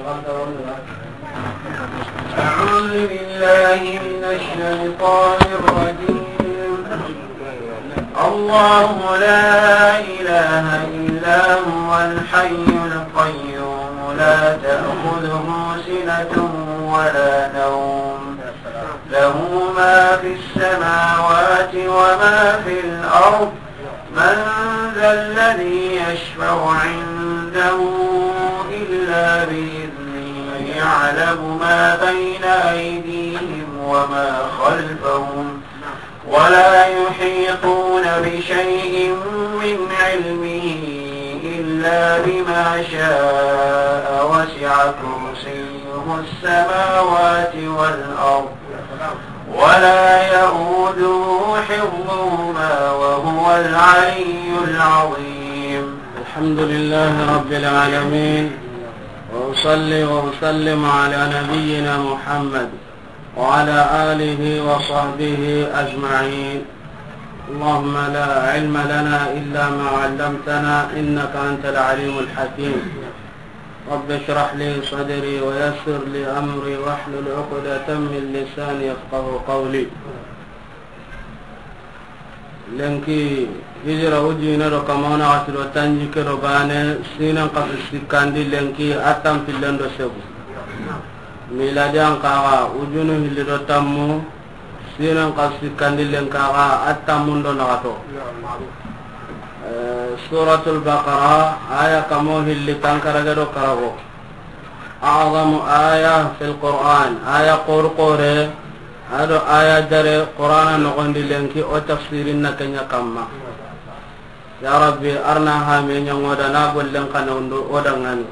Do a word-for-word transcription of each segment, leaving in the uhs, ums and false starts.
أعوذ بالله من الشيطان الرجيم. الله لا إله إلا هو الحي القيوم لا تأخذه سنة ولا نوم له ما في السماوات وما في الأرض من ذا الذي يشفع عنده إلا بإذنه يعلم ما بين أيديهم وما خلفهم ولا يحيطون بشيء من علمه إلا بما شاء وسع كرسيه السماوات والأرض ولا يؤوده حفظهما وهو العلي العظيم. الحمد لله رب العالمين، وأصلي وأسلم على نبينا محمد وعلى آله وصحبه أجمعين. اللهم لا علم لنا إلا ما علمتنا إنك أنت العليم الحكيم. رب اشرح لي صدري ويسر لي أمري واحلل عقدة من لساني يفقه قولي. Lenki hijira wujine do kamana wati do tanjikke do bane, sinan kasu sikkandi lenki a tanpillen do segu. Miladiyan kaga wujunu hilli do tammu, sinan kasu sikkandi lenki kaga a tammun do nagato. Eh, Suratul Baqara, aya kamo hilli tankarage do karago. A'zamu aya fil Qur'an, aya qor qore, ado aya dare Qur'ana nogondi lenki o tafsirin na kenya kamma. Ya Rabbi, arna hame nyangoda na gollen kana undo o dangani.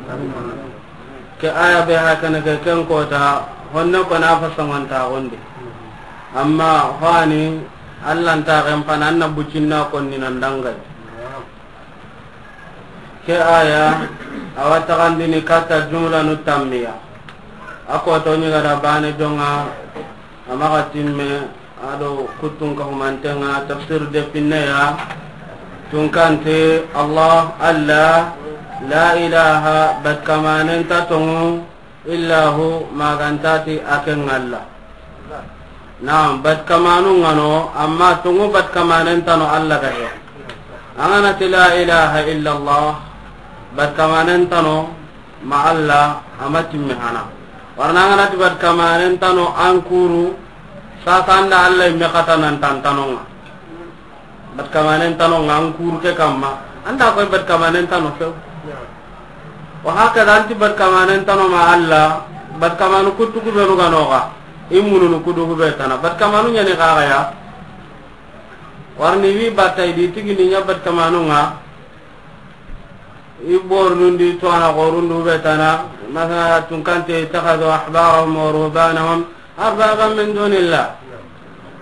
Ke aya be hakana ke ken kota, honne ko na fasanganta gondi. Amma hani, Allah nta ken pana anna bucinna konni nan dangai. Ke aya, awa taxandini katta jumlanu tammiya. A koto ɲi gada bane jonga, a maxa timme, ado kuttun ka humantenga, tafsir de pinneya, tunkante, Allah, Allah, la ilaha, bat kamanen ta tongu, illa hu, magantati a ken ŋalla. Naam, bat kamanu ŋano, amma tungu bat kamanen tano Allah ga he. An ga na ti la ilaha illa Allah, bat kamanen tano ma Allah, a ma timme hana. Warna an ga na ti bat kamanen tano an kuru, sasa an da Allah imme kata nan tantanonga. Bat kamanen tano nga an kuru ke kamma. An da koy bat kamanen tano few. Wa hakaza anti bat kamanen tano ma Allah, bat kamanu kuttu ku benu ga noga. I mununu kudu ku be tana. Bat kamanu ɲani kaga ya. Warni wi batta i di tigini ɲa bat kamanu nga. I bornundi to ana gorundu be tana. Masala tunkante ittakhadhu ahbarahum wa ruhbanahum أربابا من دون الله.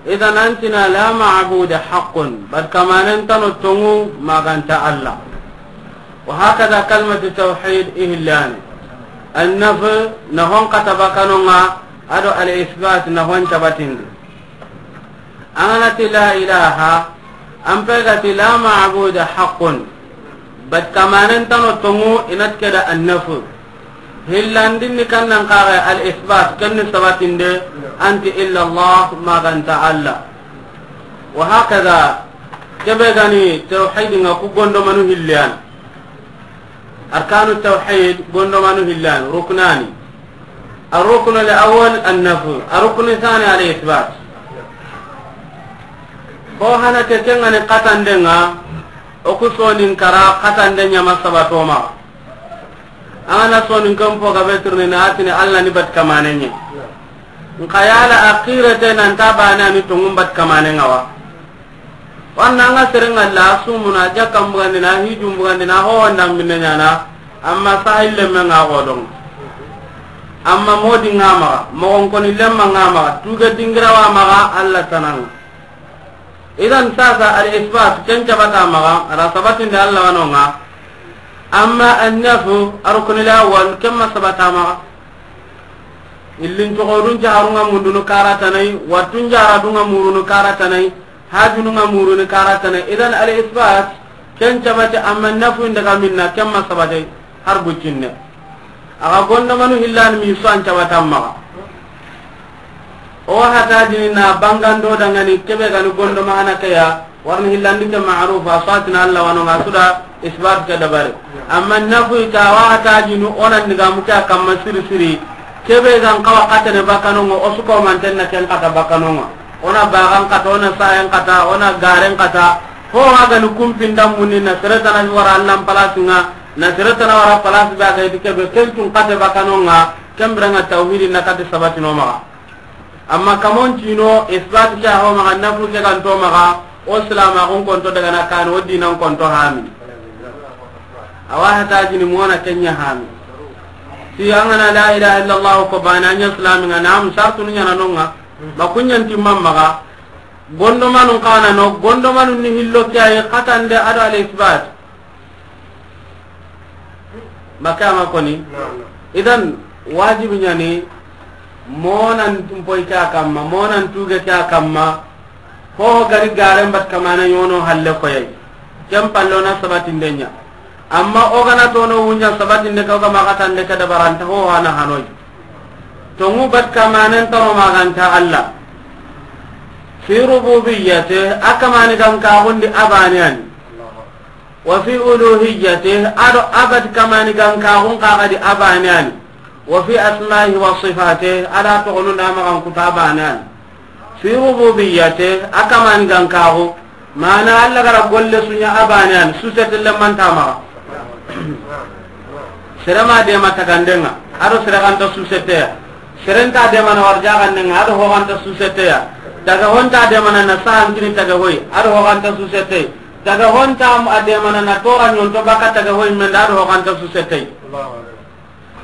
إذن أنتنا لا معبود حق، bat kamanen tano tongu maganta Allah. وهكذا كلمة التوحيد إهلان. النفي نهون كتبكنونغا، أدو الإثبات نهون تبتند. An ga na ti la ilaha, an pe ga ti la ma'buda haqqun. Bat kamanen tano tongu inat keda annafu. Hillandin ni kannan kare al isbat, ken ni sabatinde, anti illa Allah, maganta Allah. Wa hakaza, kebe gani tawhid nga ku gondo manu hilliyan. Arkanu tawhid gondo manu hilliyan, ruknani. Ar-ruknu al-awwal an-nafy, ar-ruknu thani al-ithbat. Ko hana ke kengani katande nga, o ku sonin kara katande ɲama sabatoma. An ga na soninkan po gabe tirni na atini Allah ni bat kamanenye. Nka yala akhirete nan tabana ni tongum bat kamanenga wa. Wanna nga serenga la sumuna jakka mbugandina hiju mbugandina ho wanda minne ɲana. Amma sahil lemme nga godon. Amma modi nga maga, mogon koni lemma nga maga, tuga dingira wa maga Allah tanang. Idan sasa al-isbat ken cabata maga, ada sabatinde Allah wanonga. Amma an-nafyu, ar-ruknu al-awwal, ken ma sabata maga. Illin togodun jaharunga mundunu karatanai, watun jaharadunga murunu karatanai, hajununga murunu karatanai. Idan al-isbat ken cabate, amma nafyu ndaga minna ken ma sabate har bucinne. Axa gondomanu hillani mi su an cabatan maxa. O hatajini na bangando dangani kebe gani gondoma hana keya, warni hillandi ke ma'ruf, a satina Allah wano nga suda isbat ke dabari. Amma nafu ita wa hatajinu onan diga muke a kamma siri siri. Kebe gan kawa katene bakanongo, o suko mantenna ken kata bakanongo. Ona bagan kata, ona sayen kata, ona garen kata. Ho hagani kumpinda munni na seretana wara Allah palasinga, na seretana wara palasi be aga iti kebe kentun kate bakanonga. Kembiranga tawhidi na kati sabatino maxa. Amma kamon tino isbat ke ho maxa, nafu ke ganto maxa, o silamaxun konto daga na kan, o dinan konto hami. Awa hatajini mona kenya hami. Si angana la ilaha illallah ko bana nya islaminga, nam sartu ni nyana nonga. Makunyan timman maxa. Gondomanun kana no, gondomanun ni hillo ke ayi katande ado al isbat. Maka ma koni. Idan wajibi nyani monan tumpoy ke a kamma, monan tuge ke a kamma. Ho gari garen bat kamana yono halle koyay. Ken pallona sabatindenya. Amma o gana tono wunya sabatinde ka ga maxa tande ka dabaranta ho hana hanoy. Tongu bat kamanen tano maganta Allah. Fi rububiyyati, a kamani gan kaxundi abaniyani. Wa fi uluhiyyati, ado abat kamani gan kaxun kaxadi abaniyani. Wa fi asma'ihi wa sifatihi, ada toxonunda maxan kuta abaniyani. Fi rububiyyati, a kamani gan kaxu. Mana Allah gara golle sunya abaniyani, susete lemanta maxa. Sere ma dema tagandenga, ado sere ganta suseteya. Sere nta dema na warjagandenga, ado ho ganta suseteya. Taga honta dema na na sahankini taga hoy, ado ho ganta susete. Taga honta a dema na na tora nyonto baka taga hoy menda, ado ho ganta susete.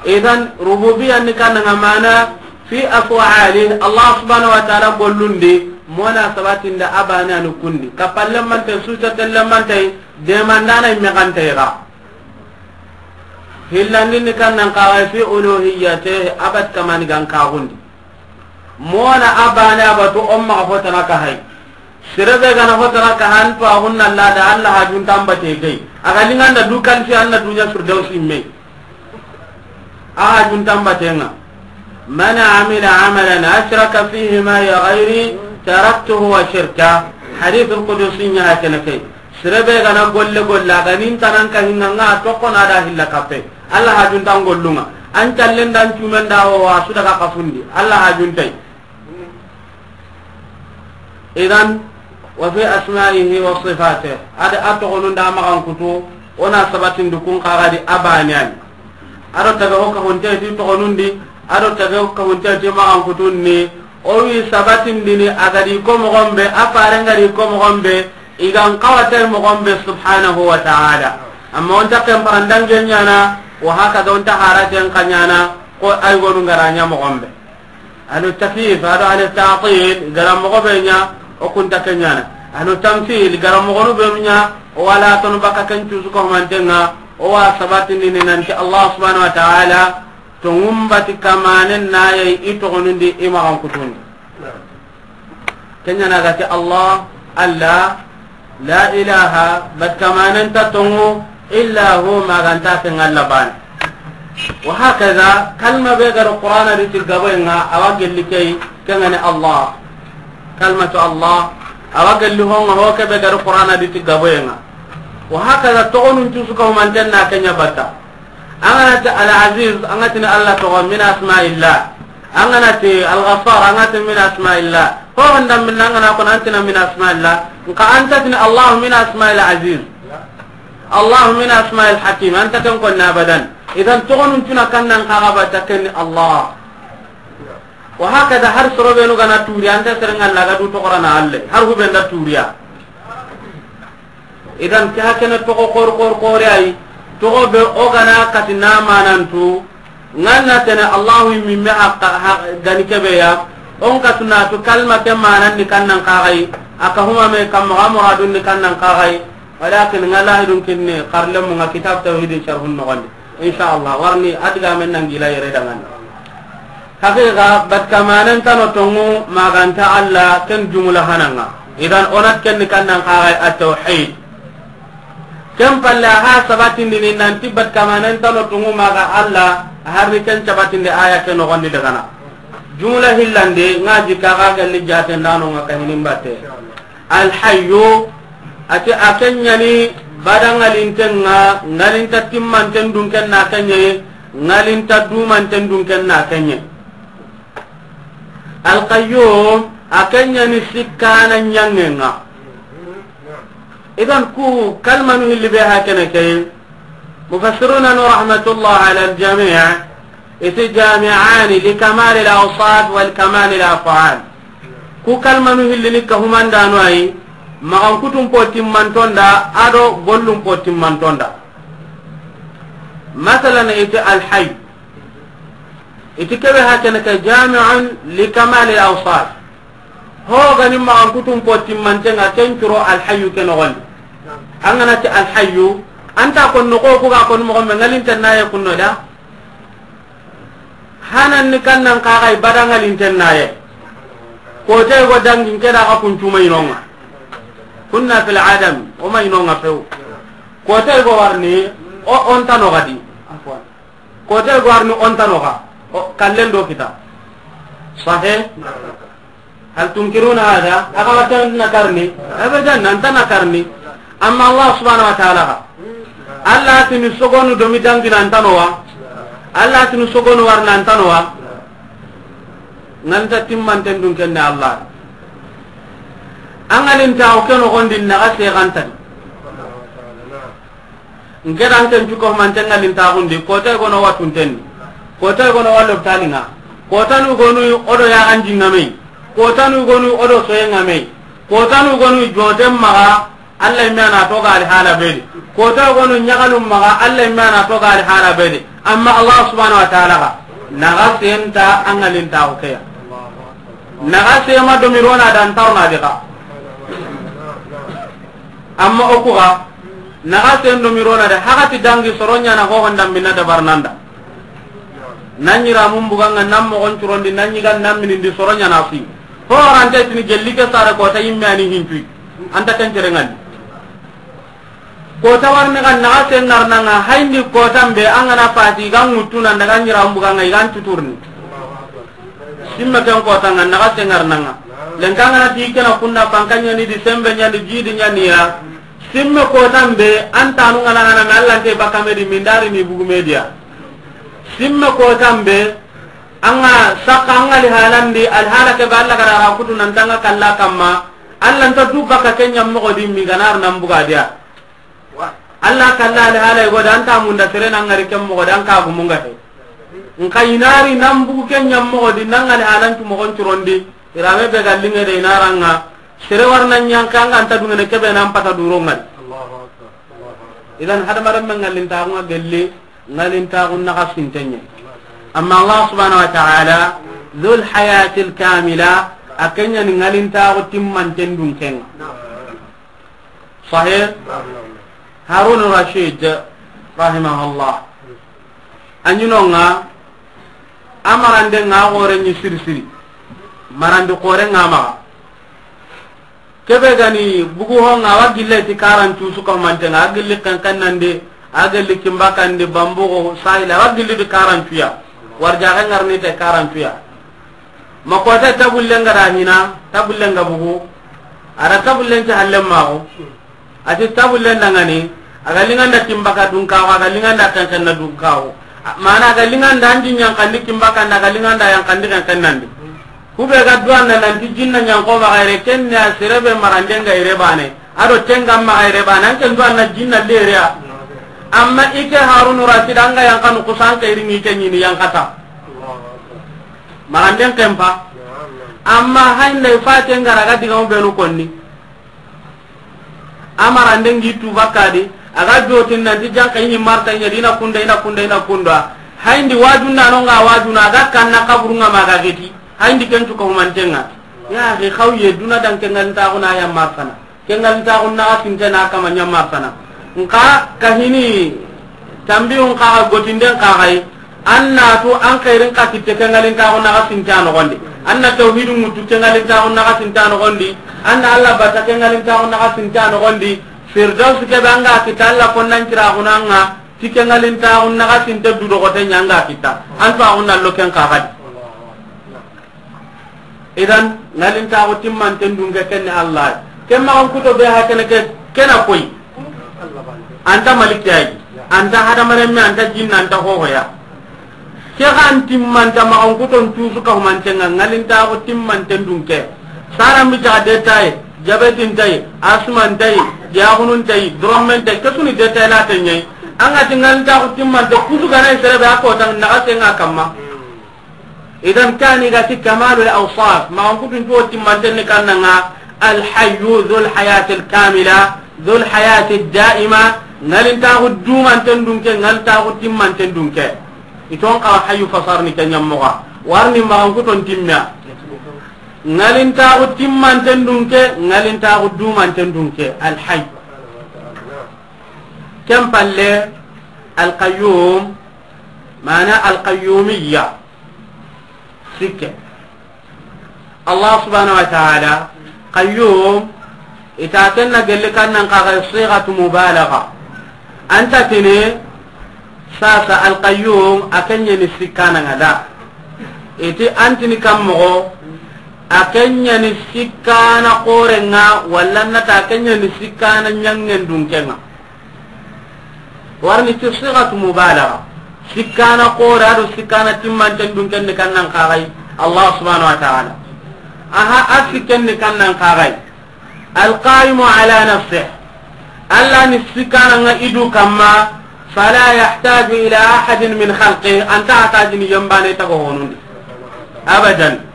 Idan rububiyya ni kananga mana fi af'ali Allah subhanahu wa ta'ala gollundi, mona sabatinda abaniyani kundi. Kapalle mante, susete lemante, demandana imme ganta iga. Hillandi ni kannan kawa fi uluhiyyati, abat kamani gan kaxundi. Mona abane abatu o maxa hotana ka hay. Sere be gana hotana ka han to a hunna la da Allah hajun tambate gay. Aga linganda du kan fi anna dunya firdausi me. A hajun tambatenga. Man amila amalan ashraka fihi ma'i ghayri taraktuhu wa shirka. Hadith al-qudusi nya hakana kay. Sere be gana golle golla ga nin tanan ka hinna nga tokko na da hilla kappe. Allah hajun tan gollunga. An tallen dan cumen da ho wa su daga kafundi. Allah hajun tay. Idan, wa fi asma'ihi wa sifatihi. Ada a toxonun da maxan kutu, ona sabatin dukun kaxadi abaniyani. Ado taga ho ka honte ti toxonundi, ado taga ho ka honte ti maxan kutunni. O wi sabatin dini agadi ko moxon be, a faren gadi ko moxon be, igan kawatay moxon be subhanahu wa ta'ala. Amma onta ken parandange nyana, wa haka da onta haraten kanyana, ko ay gonu ngaranya moxon be. Ahlu takyif, ado ahlu ta'til, gara moxo be nya, o kunta kenyana. Ahlu tamthil, gara moxonu be nya, o wala tonu baka ken cusu ko mantenga, o wa sabatini ni nanti Allah subhanahu wa ta'ala, to ngumbati kamanen na yayi i toxonundi i maxan kutundi. Kenyana gati Allah, Allah, La ilaha, bat kamanen ta tongu, illa hu, maganta ken Alla bane. Wa hakaza, kalma be garo Qur'ana di ti gaboyenga, awa gelli key, kengani Allah. Kalmatu Allah, awa gelli honga ho ke be garo Qur'ana di ti gaboyenga. Wa hakaza, togonun cusu ka humanten na kenya batta. An ga na ti Al-Aziz, an ga tini Allah togo min asma'illah. An ga na ti Al-Ghaffar, an ga tini min asma'illah. Ho handa min an ga na ko an tini min asma'illah. Nka an ta tini Allah min asma'il Aziz. Allah min asma'il Hakim. An ta ken ko na abadan. Idan togonun tuna kannan ka ga ba ta ken Allah. Wa hakada har soro be no ga na turi an ta seren Allah ga du to Qur'ana Allah. Har hu be nda turiya. Idan ke hakene togo kor kor kore ay, togo be o gana kati na manantu, nganna tene Allahu mimme hakka, ha, gani kebe ya, on ka sunatu kalma ke manan ni kannan kagai, aka huma me kam ga muradun ni kannan kagai, walakin ngala hidun kinne, karlemu nga kitab tawhidin sharhun nogondi. Insha Allah, warni adiga men nan gila yere dangan. Haqiqa, bat kamanen tano tongu maganta Allah ken jumla hananga. Idan onat ken ni kannan kagai at-tawhid. Ken palle ha sabatindini nanti bat kamanen tano tongu maga Allah, Harni ken cabatinde aya ke noxondi dagana. Jumla hillande nga jikka ga galli jatendanonga kahinin batte. Alhayyu, ati a kenyani bada ngalinten nga, ngalinta timmanten dunken na kenye, ngalinta dumanten dunken na kenye. Alqayyum, a kenyani sikkana nyangenga. Idan ku kalmanu hilli be hakene ke. Mufassiruna no rahmatullah ala aljami', iti jami'ani li kamal al awsaf wal kamal al af'al. Ku kalmanu hilli ni kahumandano ayi, maxan kutun po timmantonda, ado gollun po timmantonda. Masalan, iti alhayy. Iti kebe hakene ke jami'un li kamal al awsaf. Ho gani maxan kutun po timmantenga ken curo alhayyu ke noxondi. An gana ti alhayyu, anta kon noxo ku ga kon moxo me ngalinten naye kunno da. Hanan ni kannan kaxay bada ngalinten naye. Kotay go dangin ke da xa kuncuma inonga. Kunna fil adam, o ma inonga few. Kotay go warni, o, onta noxadi. Afwan. Kotay go warni, onta noxa. O, kallen do kita. Sahe? Hal tunkiruna hada? Aga watan na karni? Abadan, nanta na karni. Amma Allah subhanahu wa ta'ala ga. Allah tini sogonu domi dangi nanta nowa. Allah tini sogonu war nanta nowa. Nanta timmanten dun kenne Allah. An ngalinta o ke noxondi naxa segantadi. Nke dan ken cuko mante ngalintaxundi, kotay gono watuntenni, kotay gono wa lopitaninga, kotanu gonu odo yaxanjingamey, kotanu gonu odo soyengamey, kotanu gonu joten maxa, Allah imme ana toga ali hala bedi, kotay gonu ñaxalun maxa, Allah imme ana toga ali hala bedi. Amma Allah subhanahu wa ta'ala ga naxa senta an ngalintaxu keya. Naxa sema domirona dan tarna dixa. Amma o kuxa, naxa sen do mirona de, haxati dangi soro ñana hoho ndambina dabarnanda. Nan ñira mun buganga nan moxon curondi, nan ñiga nan minindi soro ñana fi. Ho rante tini gelli ke sare kota yimme ani hincuy. Anta ken cerengandi. Kota warni kan naxa sen narnanga, hayndi kotan be an gana fati, i ga ŋuttu nan daga ñira mun buganga, i ga n tuturni. Simme ken kotanga, naxa sengarnanga. Lenka ngana ti kena kunna, fanka ñani di, sembe ñani, jidi ñani ya. Simme kotan be, an tanu ngana ngana me Allah nte bakame di mindari ni bugu media. Simme kotan be, anga saka anga li halandi, al hala ke ba Allah gara kutu nan tanga kalla kamma. Allah nta du baka kenya mogo di mi ganar nan buga dia. Allah kalla ali hala i go da anta munda sere nan ngari kem mogo da an ka gumunga he. Nka inari nan bugu ken ñam mogo di nan ngali halantu mogon curondi. Irame be gallinge de inaranga. Sere warna ñanka anga anta dungene kebe nan pata duro ngali. Idan hadamaren men ngalintaxu nga gelli, ngalintaxu naxa sintenye. Amma Allah subhanahu wa ta'ala, dhul hayatil kamila, a kenya ni ngalintaxu timmanten dunkenga. Sahih? Harun Rashid, rahimahullah. A ñinonga, a marande nga xore ñi siri siri. Marandi xore nga maxa. Kebe gani bugu ho nga wa gille ti karancu suka mantenga, a gilli kankanandi, a gilli kimbakandi, bambugo, sahila, a wa gilli di karancuya. Warjaxe ngarni te karancuya. Ma kota tabullen ga da hina, tabullen ga bugu. Ada tabullen ti hallen maxo. Ati tabullen dangani, a ga linganda kimbaka dunkawo, a ga linganda kankanna dunkawo. Mana a ga linganda anji ñankandi kimbakanda, a ga linganda yankandi kankannandi. Kube ga duwanna nanti jinna ñanko maxa yere, kenne a serebe maranden ga yere bane. Ado tenga maxa yere bane, an ken duwanna jinna lereya. Amma ike Harunu Rashid anga yankanu kusan kayri ni ke ñini yankata. Maranden kempa. Amma haynda i fate ngara ga digamu benu konni. A marande ngi tu bakka di, a ga jotin nanti janka ini marta ina dina kunda, ina kunda, ina kunda. Hayndi wajunda no nga wajuna, a ga kanna kaburu nga ma ga geti. Hayndi ken tu ko mantenga. Ya, ke xawye duna dan ke ngalintaxu na ya martana. Ke ngalintaxu na sinte na kama ña martana. Nka kahini tambiyun kaxa gotinden kaxay. An na tu an xeerin xa kitte ke ngalintaxu naxa sinta noxondi. An na tawhidu ŋuttu ke ngalintaxu naxa sinta noxondi. An na Allah bata ke ngalintaxu naxa sinta noxondi. Firdaus ke be an ga kita Allah konnan ciraxunanga. Ti ke ŋalintaaxu naxasinte du doxote ɲa ŋa kita. An to a xunna lo ken xa xadi. Idan, ŋalintaaxu timmanten dunke ken ni Allah. Ken maxan kuto be ha kene ke, ken a koy. Anta maliki ya yi. Anta hadamarenme, anta jinna, anta hohoya. Ke xa an timmanta maxan kuton tusu ka humanten ŋa, ŋalintaaxu timmanten dunke. Saran bi jaxa détail, diabète nta yi, asthme nta yi, diaxunu nta yi, dorommen nta yi, ke su ni détail la te ɲa yi. An ga ti ŋalintaaxu timmante kusu ga na yi sere be a kota naxasen ŋa kamma. Idan ke ni ga ti kamalul awsaf, maxan kutun to timmanten ni kannan ŋa, alhayyu dhul hayatil kamila, dhul hayatid daima, ŋalintaaxu dumanten dunke, ŋalintaaxu timmanten dunke. I ton xa hayyu fasarni ke ɲa moxo, warni maxan kuton timmiya. Ŋalintaaxu timmanten dunke, ŋalintaaxu dumanten dunke, alhayyu. Ken palle, alqayyum, mana alqayyumiyya. Sikke. Allah subhanahu wa ta'ala, qayyum, i ta ken na gelli kannan xa ga sighatu mubalagha. Anta tini, sasa alqayyum, a ken ɲa ni sikkana ŋa da. I ti an tini kan moxo, a ken ɲa ni sikkana xoren ŋa, walla na ta a ken ɲa ni sikkana ɲangen dunken ŋa. Warni ti sighatu mubalagha. Sikkana xore do sikkana timmanten dunken ni kannan xa ga yi Allah subhanahu wa ta'ala. Aha, a sikken ni kannan xa ga yi. Alqaimu ala nafsih. Allah ni sikkana ŋa i du kamma, fala yahtaju ila ahadin min khalqih. Anta hatajini yembane taga honundi. Abadan.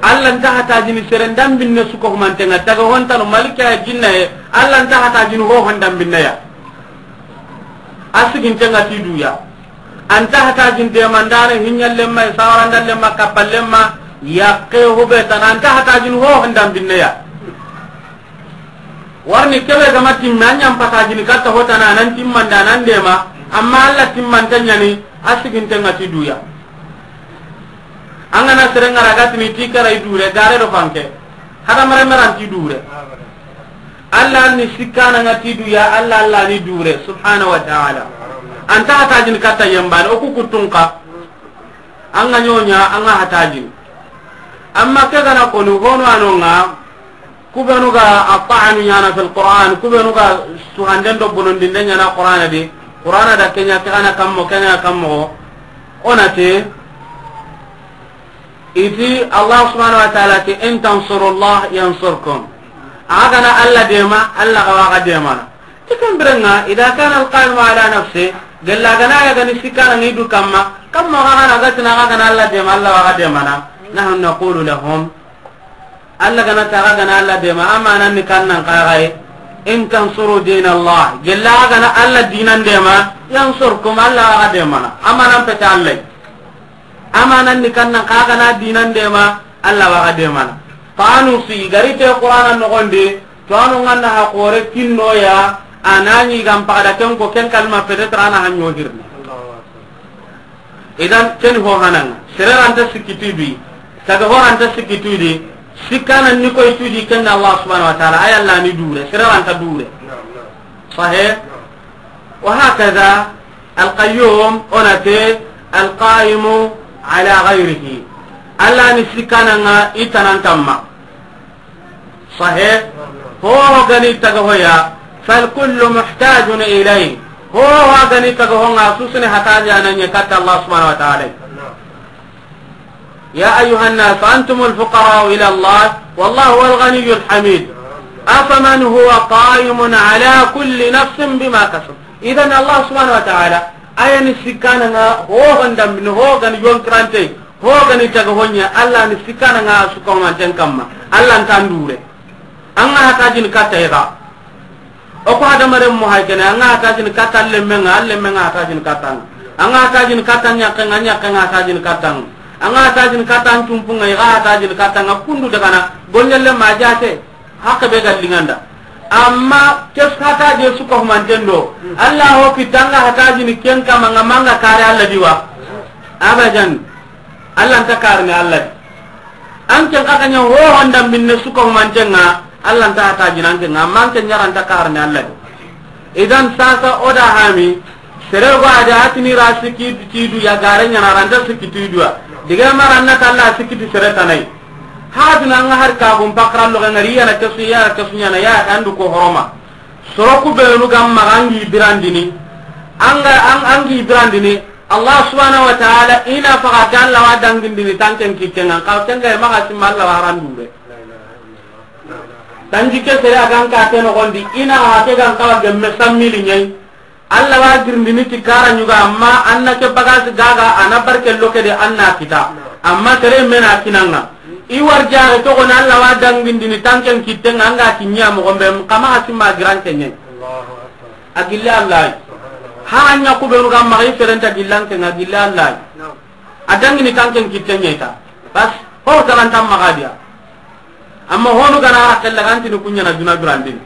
Allah nta hatajini seren dambinne su ko humanten ŋa, taga hontano malika ya jinna ye, Allah nta hatajini ho hon dambinne ya. A siginten ŋa ti du ya. Anta hatajini demandare, hiɲallemma, sawarandallemma, kappallemma, yakke hube tana, anta hatajini ho hon dambinne ya. Warni kebe gama timme, a ɲan patajini katta hotana, a nan timmanda, a nan dema, amma Allah timmante ɲa ni, a siginten ŋa ti du ya. An ga na sere ŋa ra ga tini ti kara i dure, gare do fanke. Hadamaren me ran ti dure. Allah ni sikkana ŋa ti du ya, Allah, Allah ni dure, subhanahu wa ta'ala. Anta hatajini katta yembane, o ku kuttun xa. An ga ɲoɲa, an ga hatajini. Amma ke ga na koni, hono a no ŋa, Ku benu ga a ta'anu ɲana fil Qur'an, ku benu ga suhanden do bonondinde ɲana Qur'ana di, Qur'ana da ke ɲa, ke ga na kammo, ke ga na kammo, o na ti, i ti Allah subhanahu wa ta'ala ti, "In tansurullah yansurkum." A ga na Allah dema, Allah ga wa ga demana. Ti ken biren ŋa, idha kana al-qaimu ala nafsi, gella ga na ya ga ni sikkana ŋa i du kamma, kamma ga na ga tina ga na Allah dema, Allah wa ga demana. Nahnu naqulu lahum, Allah ga na ti a ga na Allah dema, amanan ni kannan xa ga yi, "In tansuru dinallah." Gella ga na Allah dinan dema, "yansurkum", Allah wa ga demana. Amanan pete Allah. Amanan ni kannan xa ga na dinan dema, Allah wa ga demana. Tanu si gari te Qur'ana noxondi, tanu ŋa na ha xore kinno ya, a na ɲi gam pagada ken ko ken kalma peut-être a na ha ɲo hirni. Idan, ken ho hananga. Sere ra nta sikki tu i di. Taga ho ra nta sikki tu i di. Sikkana ni koy tu i di, ken Allah subhanahu wa ta'ala, ay Allah ni dure. Sere ra nta dure. Sahih? Wa hakadha al-qayyum, o na ti al-qaimu ala ghayrihi. Allah ni sikkana ŋa i tanan kamma. Sahih. Ho ho ga ni taga hoya, fal kullu muhtajun ilayh. Ho ho ga ni taga ho ŋa, su su ni hataji a na ɲa katta Allah subhanahu wa ta'ala. Ya ayyuhan nas, antumul fuqara'u ila Allah, wallahu huwal ghaniyyul hamid. Afaman huwa qa'imun ala kulli nafsin bima kasab. Idan Allah subhanahu wa ta'ala, a ya ni sikkana ŋa, ho ho ndambini, ho ga ni yonkirante, ho ga ni taga ho ɲa, Allah ni sikkana ŋa su ko manten kamma. Allah nta dure. An ga hatajini katta i ga. O ko hadamaren mo hay kene, an ga hatajini katta lemme ŋa, lemme ŋa hatajini katta ŋa. An ga hatajini katta ɲakke ŋa, ɲakke ŋa hatajini katta ŋa. An ga hatajini katta tumpu ŋa, i ga hatajini katta ŋa, kundu daga na, golle lemme a jate. Hakke be ga liŋa nda. Amma kes hataje su ko manten do. Allah ho kitta an ga hatajini ken kamma ŋa, ma an ga kare Allah di wa. Abadan. Allah nta karini Allah di. An ken xa ga ɲa ho ho ndambinne su ko manten ŋa, Allah nta hatajini an ken ŋa, amma an ken ɲa ra nta karini Allah di. Idan sasa o da hami, Sere go a da a tini ra sikki ti du ya gare ɲa na, a ra nta sikki ti du ya. Dige mara na kalla sikki ti sere tanai. Ha duna nga har ka gum pakra lo ga ngari ya na kesu, ya na kesu ɲa na ya andu ko horoma. Soro ku benu ga maxa an gi birandini. An ga, an, an gi birandini. Allah subhanahu wa ta'ala i na faga ke Allah wa dangindini tanken kitten ŋa, xa ken ga maxa simma Allah wa randu be. Tanjikke sere a ga n ka ke noxondi, i na xa ke ga n xawa gemme sammili ɲa yi. Allah wa girindini ti kara ɲuga, amma an na ke bagasi gaga, a na barke loke de an na kita. Amma sere me na kinanga. I warjaxe toxo na Allah wa dangindini tanken kitten ŋa, an ga kiɲa moxo be, xa maxa simma giranke ɲa yi. A gille Allah yi. Ha a ɲa ku benu ga maxa i serenta gillanke ŋa gille Allah yi. A dangini tanken kitten ɲa yi ta. Bas, ho talantan maxa diya. Amma honu gana a kella gantini kuɲana duna durandini.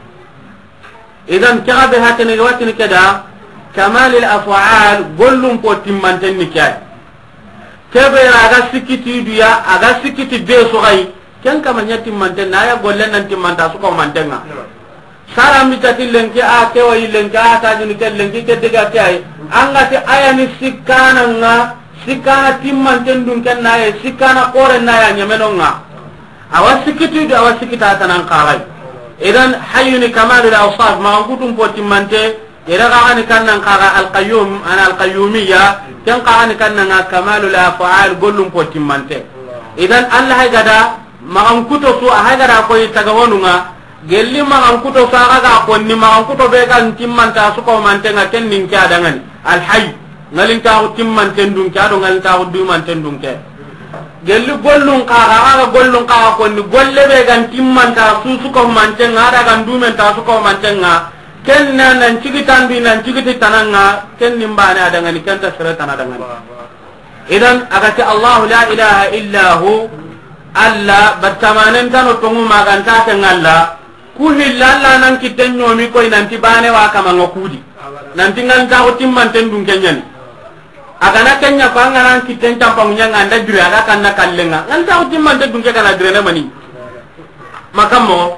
Idan ke ga be hakene ga watini ke da kamalil af'al, gollum po timmanten ni ke ay. Ke be ra ga sikki ti du ya, a ga sikki ti be su ga yi. Ken kama ɲa timmanten na ya golle nan timmanta su ko manten ŋa. Sara mi ta ti lenki a ke wa yi lenki a ta jini ke lenki ke diga ke ay. An ga ti a ya ni sikkana ŋa, sikkana timmanten dun ken na ye, sikkana kore na ya ɲameno ŋa. Awa sikki ti du, awa sikki ta tanan xaxay. Idan hayyu ni kamalul awsaf, maxa n kutum po timmante, ira ga ni kannan xaxa al qayyum, ana al qayyumiyya, ken xaxa ni kannan ŋa kamalul af'al, gollum po timmante. Idan Allah hay gada, maxa n kuto su, a hay gada koy taga wonu ŋa, gelli maxa n kuto su, a ga ga konni, maxa n kuto be ga n timmanta su ko manten ŋa, ken nin ke a dangani. Al hayy. Ŋalintaxu timmanten dunke, a do ŋalintaxu dumanten dunke. Gelli gollun xaxa, a ga gollun xaxa konni, golle be gan timmanta su su ko manten ŋa, a da gan dumenta su ko manten ŋa. Ken na nan cigi tanbi, nan cigi ti tanan ŋa, ken nin bane a dangani, ken ta sere tana dangani. Idan, a ga ti Allahu la ilaha illa hu, Allah, battamanen tano tongu maganta ken Allah. Ku hilla Allah nan kitten ɲomi koy nanti bane wa kama ŋa kudi. Nanti ŋalintaxu timmanten dunke ɲani. A ga na ken ɲa ko an ga nan kitten campangu ɲa ŋa an da giri a ga kanna kallen ŋa. Ŋalintaxu timmanten dunke ga na giri ne mani. Makammo.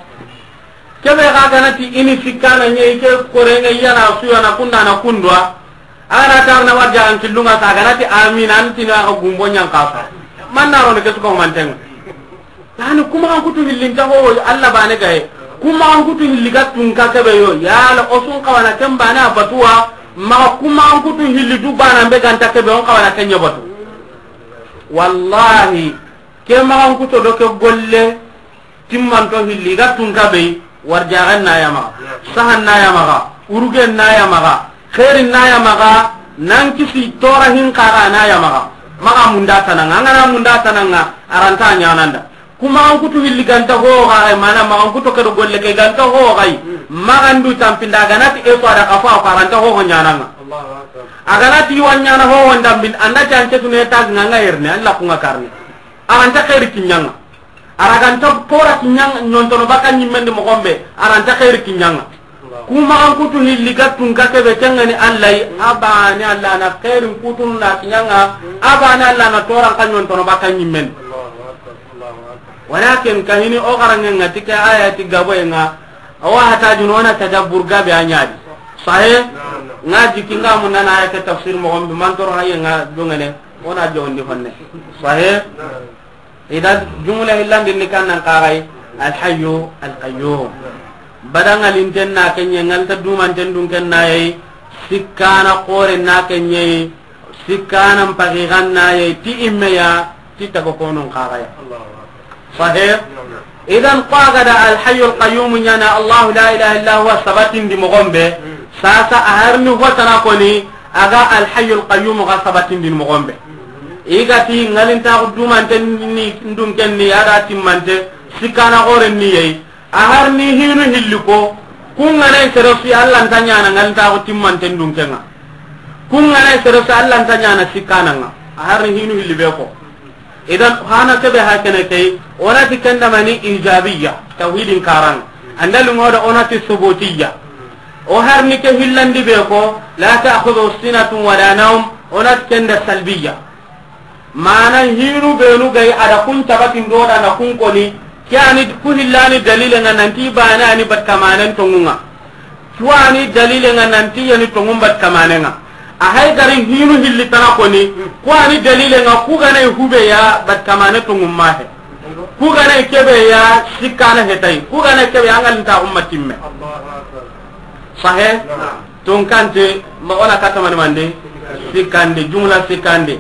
Ke be ga ga na ti i ni sikkana ɲa i ke kore ŋa i ya na su ya na kunda na kundwa. A ga na tar na warja an killun ŋa sa a ga na ti amin an ti na a ga gumbo ɲan kasa. Man na ro ne ke su ko manten ŋa. Yani, ku maxa n kutu hilli nta ho, Allah bane gaye. Ku maxa n kutu hilli ga tunka kebe yo. Yala o su n xawa na ken bane a batu wa, maxa ku maxa n kutu hilli du bana be ganta kebe, o n xawa na ken ɲa batu. Wallahi, ke maxa n kuto do ke golle timmanto hilli ga tunka be, warjaxen na ya maxa, sahan na ya maxa, urugen na ya maxa, xeerin na ya maxa, nan kisi tora hin xaxa na ya maxa. Maxa munda tananga, an ga na munda tananga, a ra nta ɲananda. Ku maxa n kutu hilli ganta ho xaxa, mana maxa n kuto ke do golle ke ganta ho xay. Maxa ndu tampinda a ga na ti e to a da xafa ko a ra nta ho ho ɲananga. A ga na ti wa ɲana ho ho ndambin, an da ti an ke tune tag ŋa ŋa yerne, an la ku ŋa karne. A ra nta xeeri kiɲanga. A ra ganta tora kiɲanga, ɲontono baka ɲimmendi moxo be, a ra nta xeeri kiɲanga. Ku maxa n kutu hilli ga tunka kebe, ken ŋa ni Allah yi, a bane Allah na xeerin kutun na kiɲanga, a bane Allah na toran ka ɲontono baka ɲimmendi. Walakin kahini o xaranŋe ŋa ti ke ayati gaboye ŋa, a wa hata juno na tadabbur gabe a ɲa di. Sahe? Ŋa jiki ŋa mun na na ayati tafsir moxo be, man toro haye ŋa dungene, o na jondi honne. Sahe? Idan, jumla hillandin ni kannan xaxay, Al Hayyu Al Qayyum. Bada ŋalinten na ke ɲa, ŋalta dumanten dun ken na yi, sikkana xore na ke ɲa yi, sikkana mpaxixan na yi, ti imme ya, ti taga konun xaxaya. Sahih? Idan, ko a ga da Al Hayyu Al Qayyum ɲana, Allahu la ilaha illa huwa sabatindi moxo be, sasa a harni hotana koni, a ga Al Hayyu Al Qayyum ga sabatindini moxo be. I ga ti ŋalintaxu dumanten ni ndunken ni, a da timmante, sikkana xoren ni yeyi. A har ni hinu hilli ko, kun ga na sere su, Allah nta ɲana ŋalintaxu timmanten dunken ŋa. Kun ga na sere su, Allah nta ɲana sikkanan ŋa. A har ni hinu hilli be ko. Idan, hana kebe hakene kay, o na ti ken da mani ijabiya, tawhidin karan. Anda lungoda o na ti subutiya. O har ni ke hillandi be ko, la ta'khudhu sinatun wala nawm, o na ti ken da salbiya. Mana hinu benu gay a da kun tabatin do da na kun koni, ke ani ku hillani dalile ŋa nanti bana ani bat kamanen tongunga. Ku ani dalile ŋa nanti yani tongun bat kamanen ŋa. A hay gari hinu hilli tana koni, ku ani dalile nga ku gana hube ya battamane to ngumma he. Ku gana kebe ya sikkana he tay. Ku gana kebe ya ngal ta umma timme. Sahe? Tonkante, ma ona katamani mande? Sikkande, jumla sikkande.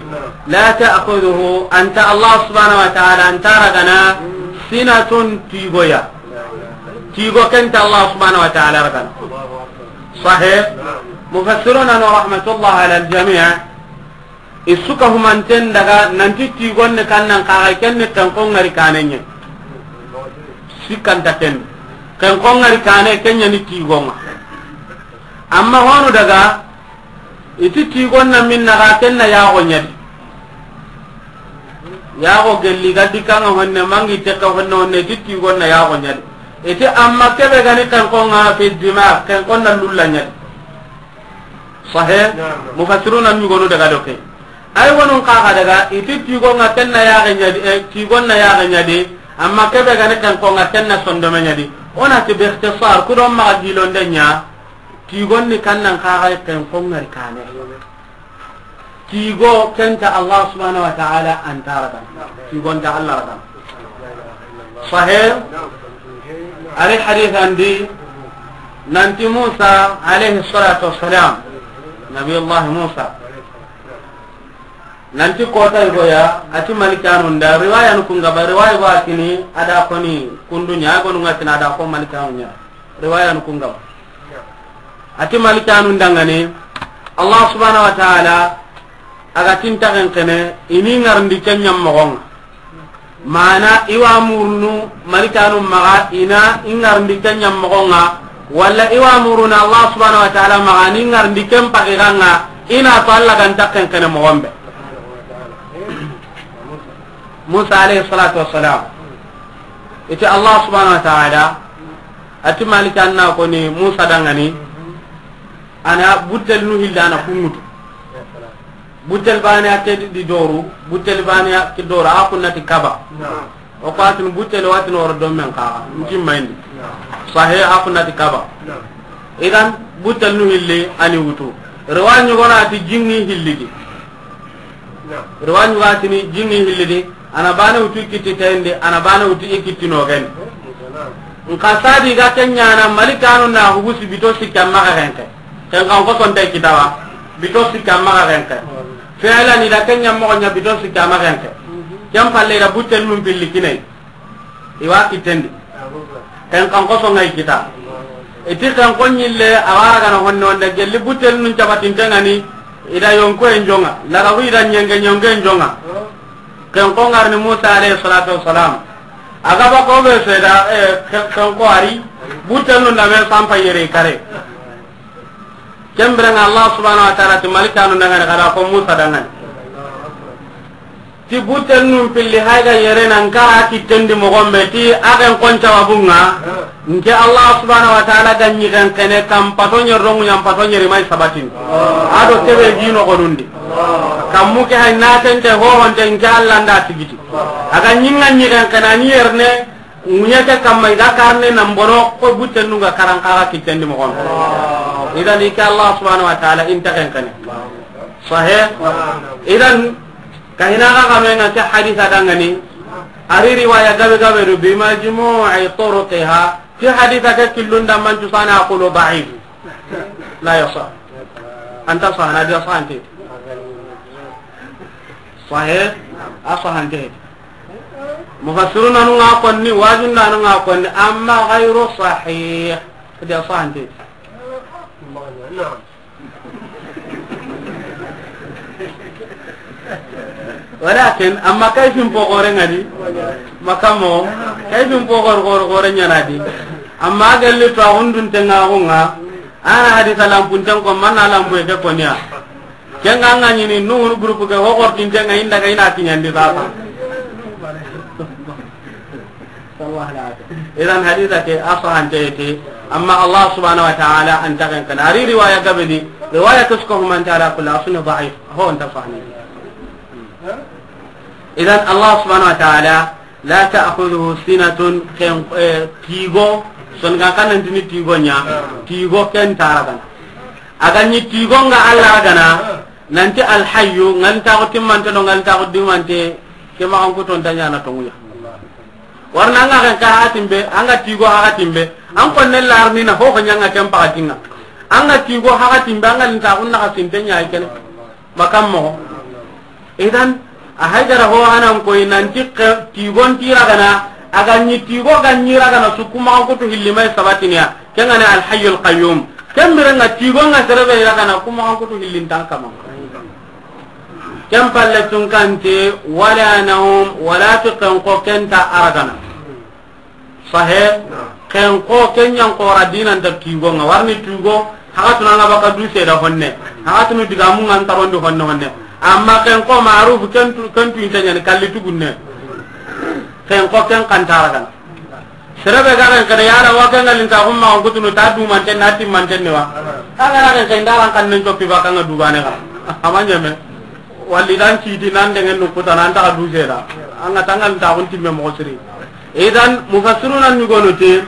La ta'khudhuhu, anta Allah subhanahu wa ta'ala, anta ragana, sinatun tigoya. Tigo kenta Allah subhanahu wa ta'ala ragana. Sahe? Mufassiruna no rahmatullah ala al-jami', i su ka humanten daga nanti tigonne kannan kaga kenne kenkon ngari kanenye. Sikkanta ken. Kenkon ngari kane kenya ni tigonga. Amma honu daga, iti tigonna minna ga kenna yago nyadi. Yago gelli ga dikanga honne mangi teka honne honne, iti tigonna yago nyadi. Iti amma kebe gani kenkonga fi dimag, kenkonna lulla nyadi. Sahe? Naam. Mufassiruna ñugonu daga do ke. Ay wonun kaga daga, iti tigonga kenna yaxe ñadi, e, tigonna yaxe ñadi, amma kebe gani kenkonga kenna sondome ñadi. Ona ti bi ikhtisar, kudon maxa gilonde ña, tigonni kannan kaga kenkongari kane. Tigo kenta Allah subhanahu wa ta'ala antaraga. Tigonta Allah raga. Sahe? Ari hadith andi, nanti Musa alayhi salatu wassalam, Nabiyullah Musa, nanti kota igoya, ati malikanu nda, riwaya nu kunga ba, riwaya go atini, ada koni kundunya, agonu ngatini ada ko malikanu nya. Riwaya nu kunga ba. Ati malikanu ndangani, Allah subhanahu wa ta'ala, aga tinta kenkene, ini ngarndi kenya mogonga. Mana iwa murunu malikanu maga ina ingarndi kenya mogonga, wala iwa muruna Allah subhanahu wa ta'ala maga ni ngarndi ken pakiganga, ina to Allah ganta kenkene mogombe. Musa alayhi salatu wassalam. Iti Allah subhanahu wa ta'ala, ati malikanna koni Musa dangani, ana butel nu hilla ana kungutu. Butel bane a ke di doru, butel bane a ke doru, a kunnati kaba. Naam. O ko atun butel watin woro do men kaga, nti mayndi. Naam. Sahe a kunnati kaba. Naam. Idan butel nu hilli ani wutu. Riwa ñugona ati jingi hillidi. Naam. Riwa ñuga tini jingi hillidi. Ana bane wutu i kitti tayndi, ana bane wutu i kitti nogeni. Nka sadi ga kenyana malikanu na hugusi bito sikka maga renke. Ken kan ko sonte kitawa. Bito sikka maga renke. Fi'lan ida kenya mogo nya bito sikka maga renke. Ken palle ida butel num pilli kinai. Iwa kitendi. Ken kan ko songai kita. Iti ken ko nyille awara gana honne honne gelli butel nun cabatin tengani. Ida yonko en jonga. Laga wi ida nyenge nyonge en jonga. Ken ko ngarni Musa alayhi salatu wassalam. Aga ba ko be seda, eh, ken, ken ko ari, butel nun da me sampa yere kare. Ken birenga Allah subhanahu wa ta'ala ti malikanu dangani kada ko Musa dangani. Ti butel nun pilli hayga yere nan kara kitendi mogombe ti agen kon cawabunga. Nke Allah subhanahu wa ta'ala ga ñi ken kene kam pato ñer rongu ñam pato ñeri may sabatin. Ado kebe jino gonundi. Kammu ke hay natente hohonte nke Allah nda tigiti. Aga ñinga ñi ken kene ani yerne, ŋuñe ke kamma iga karne nan bono ko butte nunga karan kaga kitendi mogon. Idan ike Allah subhanahu wa ta'ala inta ken kene. Sahe? Idan kahina ga kamenga ke hadisa dangani. Ari riwaya gabe gabe do bi majmu'i turuqiha. Ti hadisa ke killunda mancu sana aqulu da'if. La yasah. Anta sahana dia sahante. Sahe? A sahante. Mufassiruna nu nga konni, wajunda nu nga konni, amma ghayru sahih. Dia sahante. Walakin amma kayfin pogore ngadi makamo, kayfin pogor gor gore nyanadi. Amma galli to hundun tenga hunga, ana hadisa lampun tenko manna lampu ke konya. Kenga nga ñini nuhun groupe ke ho gortinte nga inda ga ina kiñandi sasa. Idan hadisa ke a sahante te, amma Allah subhanahu wa ta'ala anta ken kene. Ari riwaya gabe di, riwaya ke suka humante ala kulli asuni da'if. Ho anta sahani. Idan Allah subhanahu wa ta'ala la ta'khudhuhu sinatun, ken, eh, tigo, son ga kanantini tigo nya, tigo ken taragana. A ga ɲi tigo nga Alla ragana, nanti Alhayyu, ngalintaaxu timmante do ngalintaaxu dumante, ke maxankuto nta ɲaana tonŋu ya. Warna an ga ken xa hatimbe, an ga tigo xa hatimbe, an konne larni na ho ho ɲa nga ken paxatinŋa. An ga tigo xa hatimbe, an ngalintaaxu naxa sinte ɲa kene. Bakam moxo. Idan, a haydara ho hanan koy nanti ke-, tigon ti ragana, a ga ɲi tigo ga ɲi ragana su ku maxankutu hilli may sabatiniya, ken ga ni Alhayyul Qayyum. Ken biren ŋa tigo nga sere be ragana ku maxankutu hillin tan kama. Ken palle tun kante, wala nawm, wala ti ken xo ken nta a ragana. Sahe, ken xo ken ɲa n xora dinan ta tigo nga, warni tigo, haxatunu nga baka du seda honne, haxatunu digamu nga n tarondi honne honne. Amma ken xo maruf ken tu, ken tu inte ɲani kalli tugunne. Ken xo ken xa nta ragana. Sere be ga ken kene yala wa ken ngalintaaxu maxankutunu ta dumanten na timmanten ni wa. A ga ra ken ken daran kan nen coppi baka nga dugane xa. Ama ɲeme. Walli dan citi nan dengen nu kuta nan taxa du seda. An ga ta ngalintaaxun timme moxo siri. Idan, mufassiruna ɲugono ti,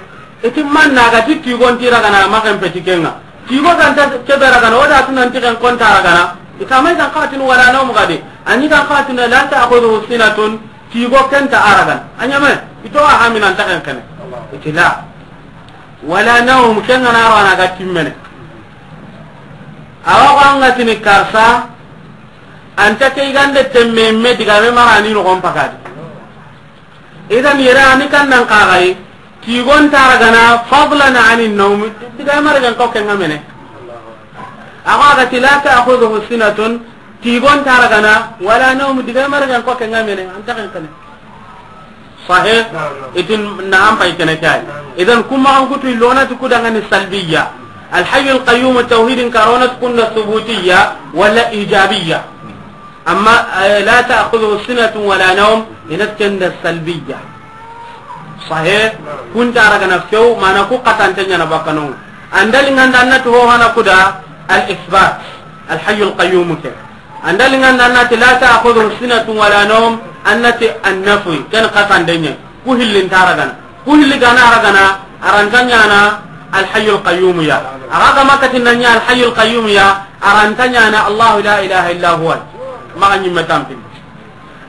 iti manna ga ti tigon ti ragana, ma ken peti ken ŋa. Tigo ga nta kebe ragana, o da tu nanti ken xo nta ragana. Ita mai kan xatinu wala nawm gadi. Ani kan xatinu la ta'khudhuhu sinatun, tigo ken nta a ragana. A ɲeme, ito a haminan ta ken kene. Iti la. Wala nawm, ken ga na ragana ga timmene. Awa ko an ga tini karsa, an ta ke gande temme me diga me marani no gon pakadi. Idan yere ani kan nan kaxayi, tigon ta ragana fadlan ani nawm, diga mara gan ko ken ŋa mene. Axa ga ti la ta'khudhuhu sinatun, tigon ta ragana, wala nawm, diga mara gan ko ken ŋa mene, an ta ken kene. Sahih? Itin na an pay kene kay. Idan kuma an kutu lona ti kudangani salbiyya. Al Hayyul Qayyum tawhidin karona ti kunda subutiyya wala ijabiyya. Amma, eh, la ta'khudhuhu sinatun wala nawm, ina kenda salbiyya. Sahih? Kun ta ragana few, mana ku katante ɲana bakano. Andali nganda annati ho hana kuda al isbat, al hayyul qayyum ke. Andali nganda annati la ta'khudhuhu sinatun wala nawm, annati an nafi, ken katande ɲa. Ku hillin ta ragana. Ku hilli ga na ragana, a ra nta ɲana al hayyul qayyum ya. Axa ga ma kati na ɲa al hayyul qayyum ya, a ra nta ɲana Allahu la ilaha illa huwa. Maxa ɲimme tampin.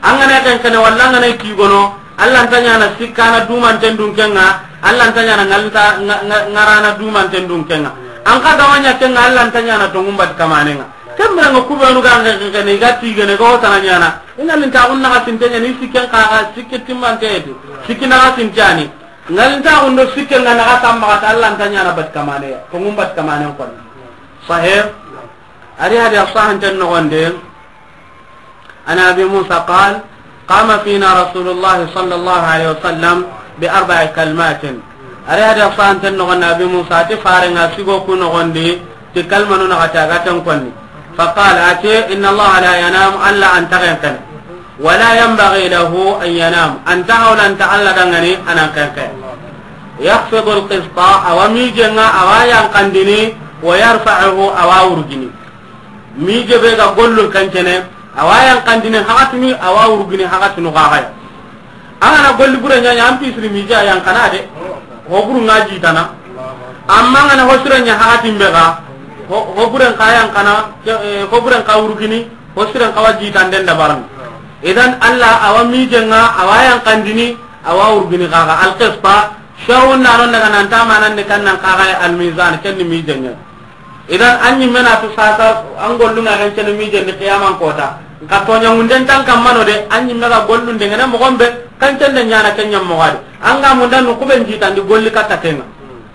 An ga na ken kene walla an ga na tigono, Alla nta ɲana sikkana dumanten dun ken ŋa, Alla nta ɲana ngalta nga-, nga-, ngarana dumanten dun ken ŋa. An xa ga ma ɲa ken ŋa, Alla nta ɲana tonŋun bat kamanen ŋa. Ken biren ŋa kubenu ga ken kene, i ga tigene, i ga hotana ɲana. I ŋa linta xun naxa sinte ɲani, sikken xa, sikke timmante eti. Sikki naxa sinte ani. Ngalintaaxun do sikke nga naxa tammaxa ta, Alla nta ɲana bat kamane ya, tonŋun bat kamanen koni. Sahih? Ari hadi a sahanten noxonde, an Abi Musa qal, qama fina Rasulullah sallallahu alaihi wasallam bi arba'i kalimatin. Ari hadi a sahanten noxonde Abi Musa ti farenga sigo ku noxondi, ti kalmanu naxati a ga ten konni. Faqala, ati, inna Allah la yanam, Alla an taxen kene. Wala yanbaghi lahu an yanam, an ta hawlanta Alla dangani anan ken kene. Yakhfidu al-qista, awa mijenga, awa yankandini, wa yarfa'uhu, awa wurgini. Mije be ga gollu kancene, awa yankandini hakatuni, awa wurgini hakatunu gagaya. An ga na golli bure ɲaɲa, an pisiri mije a yankana de. Ho buru nga jitana. Amma an ga na ho sire ɲa hakatin be ga, ho, ho bure nka yankana, ke, eh, ho bure nka wurgini, ho sire nka wa jitanden dabarni. Idan Alla awa mijenga, awa yankandini, awa wurgini gaga. Al-qista, sharun nanon daga nan tamanan ni kan nan kaga al-mizan, ken ni mijenga. Idan an ɲimme na tu sasa, an gollunga kan cene mijen ni qiyaman kota. Nka toɲa munden tan kammano de, an ɲimme ga gollun de ngene mogon be, kan cende ɲana ken ɲam mogadi. An ga munda no kuben jitandi golli katta kenga.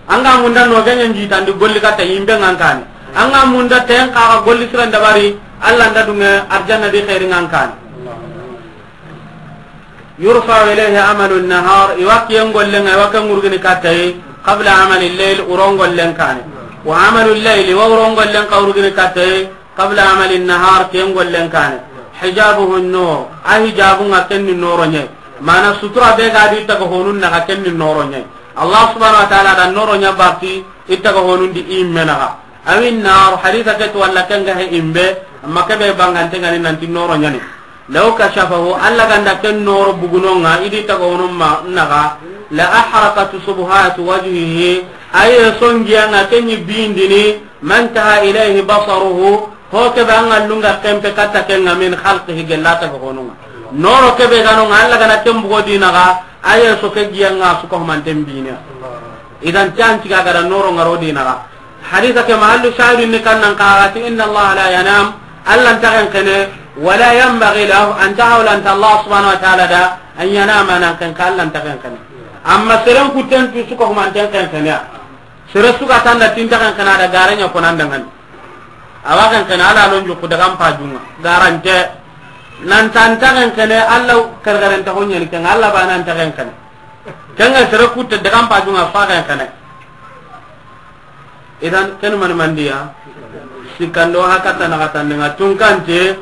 An ga munda no genyen jitandi golli katta yimbe ngankani. An ga munda ten kaga golli siran dabari, Alla nda dunge arjanna di khairi ngankani. Yurfa'u ilayhi amalu nahar, i wa kiyen gollen ŋa, i wa ken wurgini katta yi, qabla amali layl, wuron gollen kane. Wa amalu layl, i wa wuron gollen ka wurgini katta yi, qabla amali nahar, kiyen gollen kane. Hijabuhu nur, a hijabun ŋa ken ni noro ɲa yi. Mana sutura be ga di taga honun naga ken ni noro ɲa yi. Allah subhanahu wa ta'ala da noro ɲa baki, i taga honun di i menaga. Awi nar, hadisa ke to walla ken ga he imbe, amma ke be bangante ngani nanti noro ɲani. Law kashafahu, Alla ganda ken noro bugunonga, i di taga honun ma naga, la ahraqat subuhatu wajhihi, aye songiya nga ken ni bindini, Man taha ilayhi basaruhu, ho ke be an ga lunga kempe katta ke ŋa, min khalqihi, gella ta ko no ŋa. Noro ke be ga no ŋa, Alla ga na ken bugo dina ga, aye so ke giya ŋa su ko manten bine. Idan can tiga ga da noro ŋa ro dina ga. Hadisa ke mahallu shahidin ni kan nan ka ga ti, inna Allah la yanam, Alla nta ken kene, wala yanbaghi lahu, an ta hawla an ta Allah subhanahu wa ta'ala da, an yanama nan ken ka Alla nta ken kene. Amma seren ku ten tu su ko manten ken kene. Sere su ga tanda tinta kan kana da garanya ko nan dangan. Awa kan kana ala lon jukku daga mpa junga. Garante. Nan tanta kan kana Allah kargaranta honya ni kan Allah ba nan ta kan kana. Kan ga sere kutte daga mpa junga fa kan kana. Idan ken man mandiya. Sikando hakata na kata nga tunkante.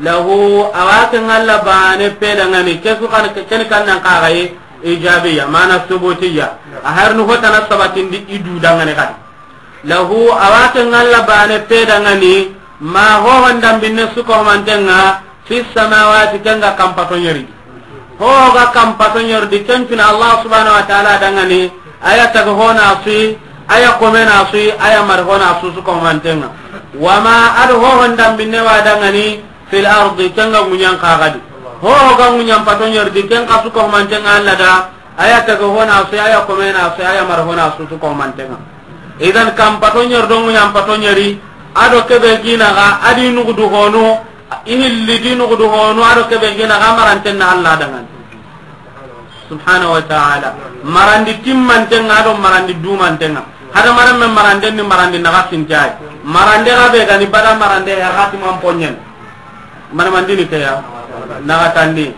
Lahu, awa ke ŋalla bane pe dangani, ke su kan, ken kan nan kaxaye ijabiya, mana subutiya. A harnu hotana sabatindi i du dangani kadi. Lahu, awa ke ŋalla bane pe dangani, ma hohon dambinne su ko mantenga, fi samawati, kenga kampato ñeri. Ho ga kampato ñeri di, ken fina Allah subhanahu wa ta'ala dangani, aya taga hona sui, aya komena sui, aya mar hona su su ko mantenga. Wama ado hohon dambinne wa dangani, fil ardi, kenga ŋuñan kaxadi. Ho ga ŋuñan pato ñeri di, ken kasu ko mantenga Allah da, aya taga hona sui, aya komena sui, aya mar hona su su ko mantenga. Idan kampato ñeri do ŋuñan pato ñeri, ado kebe gina ga, adi nugudu honu, ihilli di nugudu honu, ado kebe gina ga marantenna Allah dangani. Subhanahu wa ta'ala. Marandi timmantenga do marandi dumantenga. Hada maran men marande ni marandi naga sintai. Marande ga be gani bada marande ya hati man ponyen. Mana mandini ke ya. Naga tandi.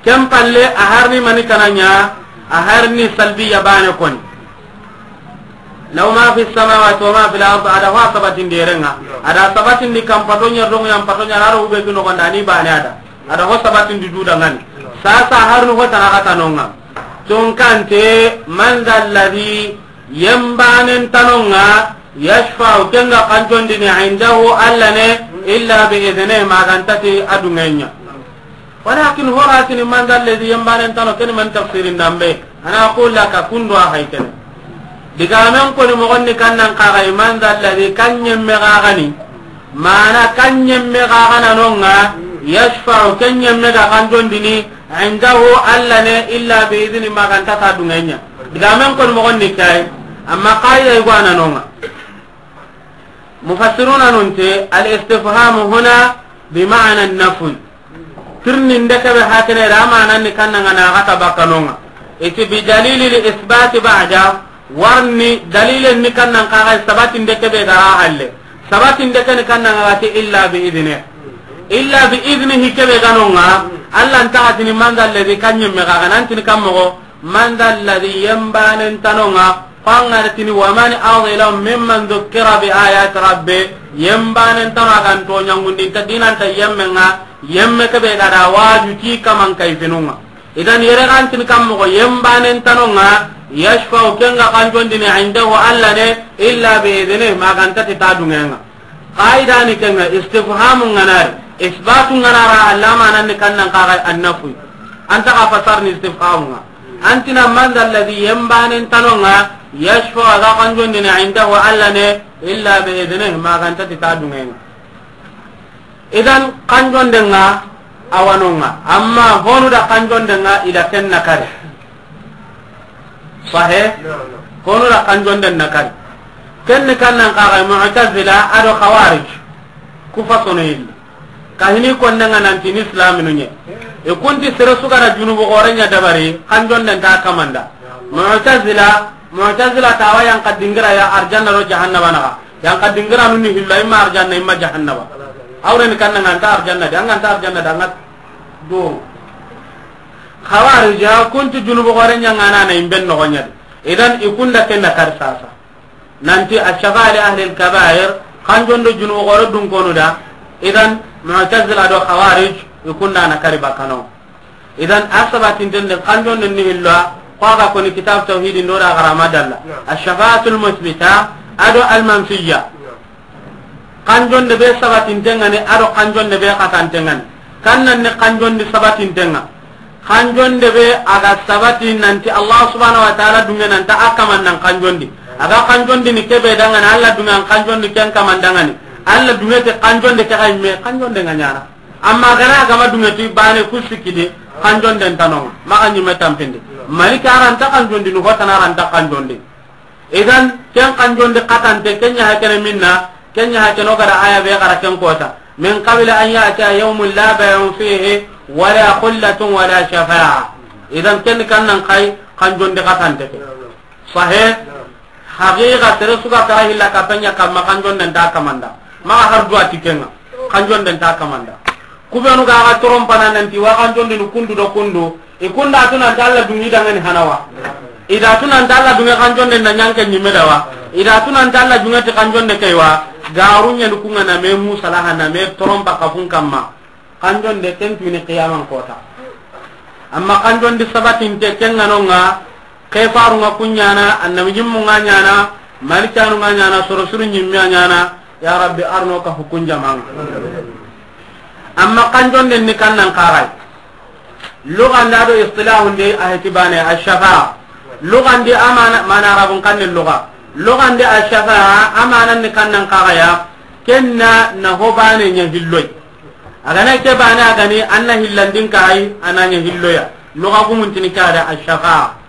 Kem palle a harni mani kananya, a harni salbiya bane koni. Law ma fi samawati wa ma fil ardi, ada ho sabatin derenga. Ada sabatin di kam pato ñer do ŋuñan pato ñer aro ube gino gonda ni bane ada. Ada ho sabatin di duda ngani. Sasa harnu ho tana kata nonga. Tunkante, man dha alladhi, yembanen tanonga, yashfa'u, kenga kanjondini, indahu, Allah ne, illa bi idhnihi, magantati adungenya. Walakin horatini man dha alladhi, yembanen tano, keni man tafsirin dambe. Ana aqul laka, kundo a hay kene. Digamen koni mogonni kannan kagai, man dha alladhi, kan ñemme gagani. Mana kan ñemme gagana nonga, yashfa'u, ken ñemme ga kanjondini, indahu, Allah ne, illa bi idhni, maganta ta dungenya. Digamen koni mogonni kay, amma qaida igwana nonga. Mufassiruna nunte, al istifhamu huna bi ma'na an-nafy. Tirninde kebe hakene da manan ni kannanga na gata bakkanonga. Iti bi dalili li isbati ba'da, warni dalilen ni kannan kaga sabatinde kebe gara halle. Sabatinde keni kannanga gati illa bi idhni. Illa bi idhnihi kebe ganonga, Allah ntagatini man dha alladhi kan ñemme gaga nantini kammogo, man dha alladhi yembanen tanonga, Ko an ga na tini, wa man azlamu mimman dhukkira bi ayati rabbih, yembanen tano a ga nto ñangundinta dinanta yemmenga, yemme kebe ga da waju ti kaman kayfinunga. Idan yere ga ntini kammogo yembanen tanonga, yashfa'u kenga kanjondini indahu Allah ne, illa bi idhnihi, magantati ta dungenga. Qaidani kenga istifhamu nganari, isbatu nganara, Allah mananni kannan kaga annafu. Anta ka fasarni istifhamu nga. Antina man dha alladhi yembanen tanonga, yashfa'u a ga kanjondini indahu Allah ne, illa bi idhnihi, magantati ta dungenga. Idan kanjondenga awanonga, amma honu da kanjondenga ida ken nakari. Sahe? Honu da kanjonden nakari. Kenni kannan kaga Mu'tazila ado Khawarij. Ku fasono yilli. Kahini konnenga nanti ni islaminu ñe. E kunti sere sugara junubu gore ña dabari, kanjonden ta kamanda. Mu'tazila, Mu'tazila tawa yanka dingira ya arjanna do jahannaba naga. Yanka dingira nuni hilla imma arjanna imma jahannaba. Awreni kannanga anta arjanna de, anga anta arjanna de, anga do. Khawarija kunti junubu gore ña ngana na imben no goñadi. Idan ikunda kenna kar sasa. Nanti ash-shafa'a li ahli al-kaba'ir, kanjondo junubu gore dun konu da. Idan Mu'tazila do Khawarij, ikunda na kari bakano. Idan asabatinten de kanjondo ni hillo, ko aga koni kitab tawhid ndo da garama dalla. Ash-shafa'atul musbita, ado al-manfiyya. Kanjonde be sabatintengani, ado kanjonde be katantengani. Kannan ni kanjondi sabatintenga. Kanjonde be aga sabati nanti Allah subhanahu wa ta'ala dunge nanta akaman nan kanjondi. A ga kanjondini kebe dangani, Alla dunŋe an kanjondi ken kaman dangani. Alla dunŋe ti kanjonde ke xa yi me, kanjonde ŋa ɲaana. Amma a ga na a ga ma dunŋe ti baane ku sikki di, kanjonden ta no ŋa, maxa ɲi me tanpindi. Maliki a ra nta kanjondini, ho tana a ra nta kanjondini. Idan, ken kanjondi xatante, ken ɲa xa kene minna, ken ɲa xa kene o ga da aya be xara ken kota. Min qabli an ya'tiya yawmun la bay'un fihi wala khullatun wala shafa'a. Idan, ken kan nan xa yi kanjondi xatante ke. Sahe, haqiqa sere su ga kara hilla ka penya kamma kanjonden ta kamanda. Maxa har duwa ti ken ŋa, kanjonden ta kamanda. Ku benu ga ga torompana nanti wa kanjondini kundu do kundu, i kunda tu nanti Alla dunŋe i dangani hana wa. I da tu nanti Alla dunŋe kanjonde na ɲanke ɲi me da wa. I da tu nanti Alla dunŋe ti kanjonde ke wa. Garu ɲani ku ŋa na me musalaha na me torompa kafun kamma. Kanjonde ken tuni qiyaman kota. Amma kanjondi sabatinte ken ŋa no ŋa, ke faru ŋa ku ɲaana, annabi ɲimmu ŋa ɲaana, malikanu ŋa ɲaana, soro suru ɲimme a ɲaana, ya Rabbi, arno ka hukun jaman ŋa. Amma kanjonden ni kan nan xa yi. Lugandi a do istilahun di a heti baane, ash-shafa'a. Lugandi a mana, mana arabun kan ni luga. Lugandi ash-shafa'a, a manan ni kan nan xa yi ya, ken na na ho baane ɲa hilloy. A ga na ke baane a ga ni an na hillandin xa yi, a na ɲa hilloya. Luga gumun tini ke ya da ash-shafa'a.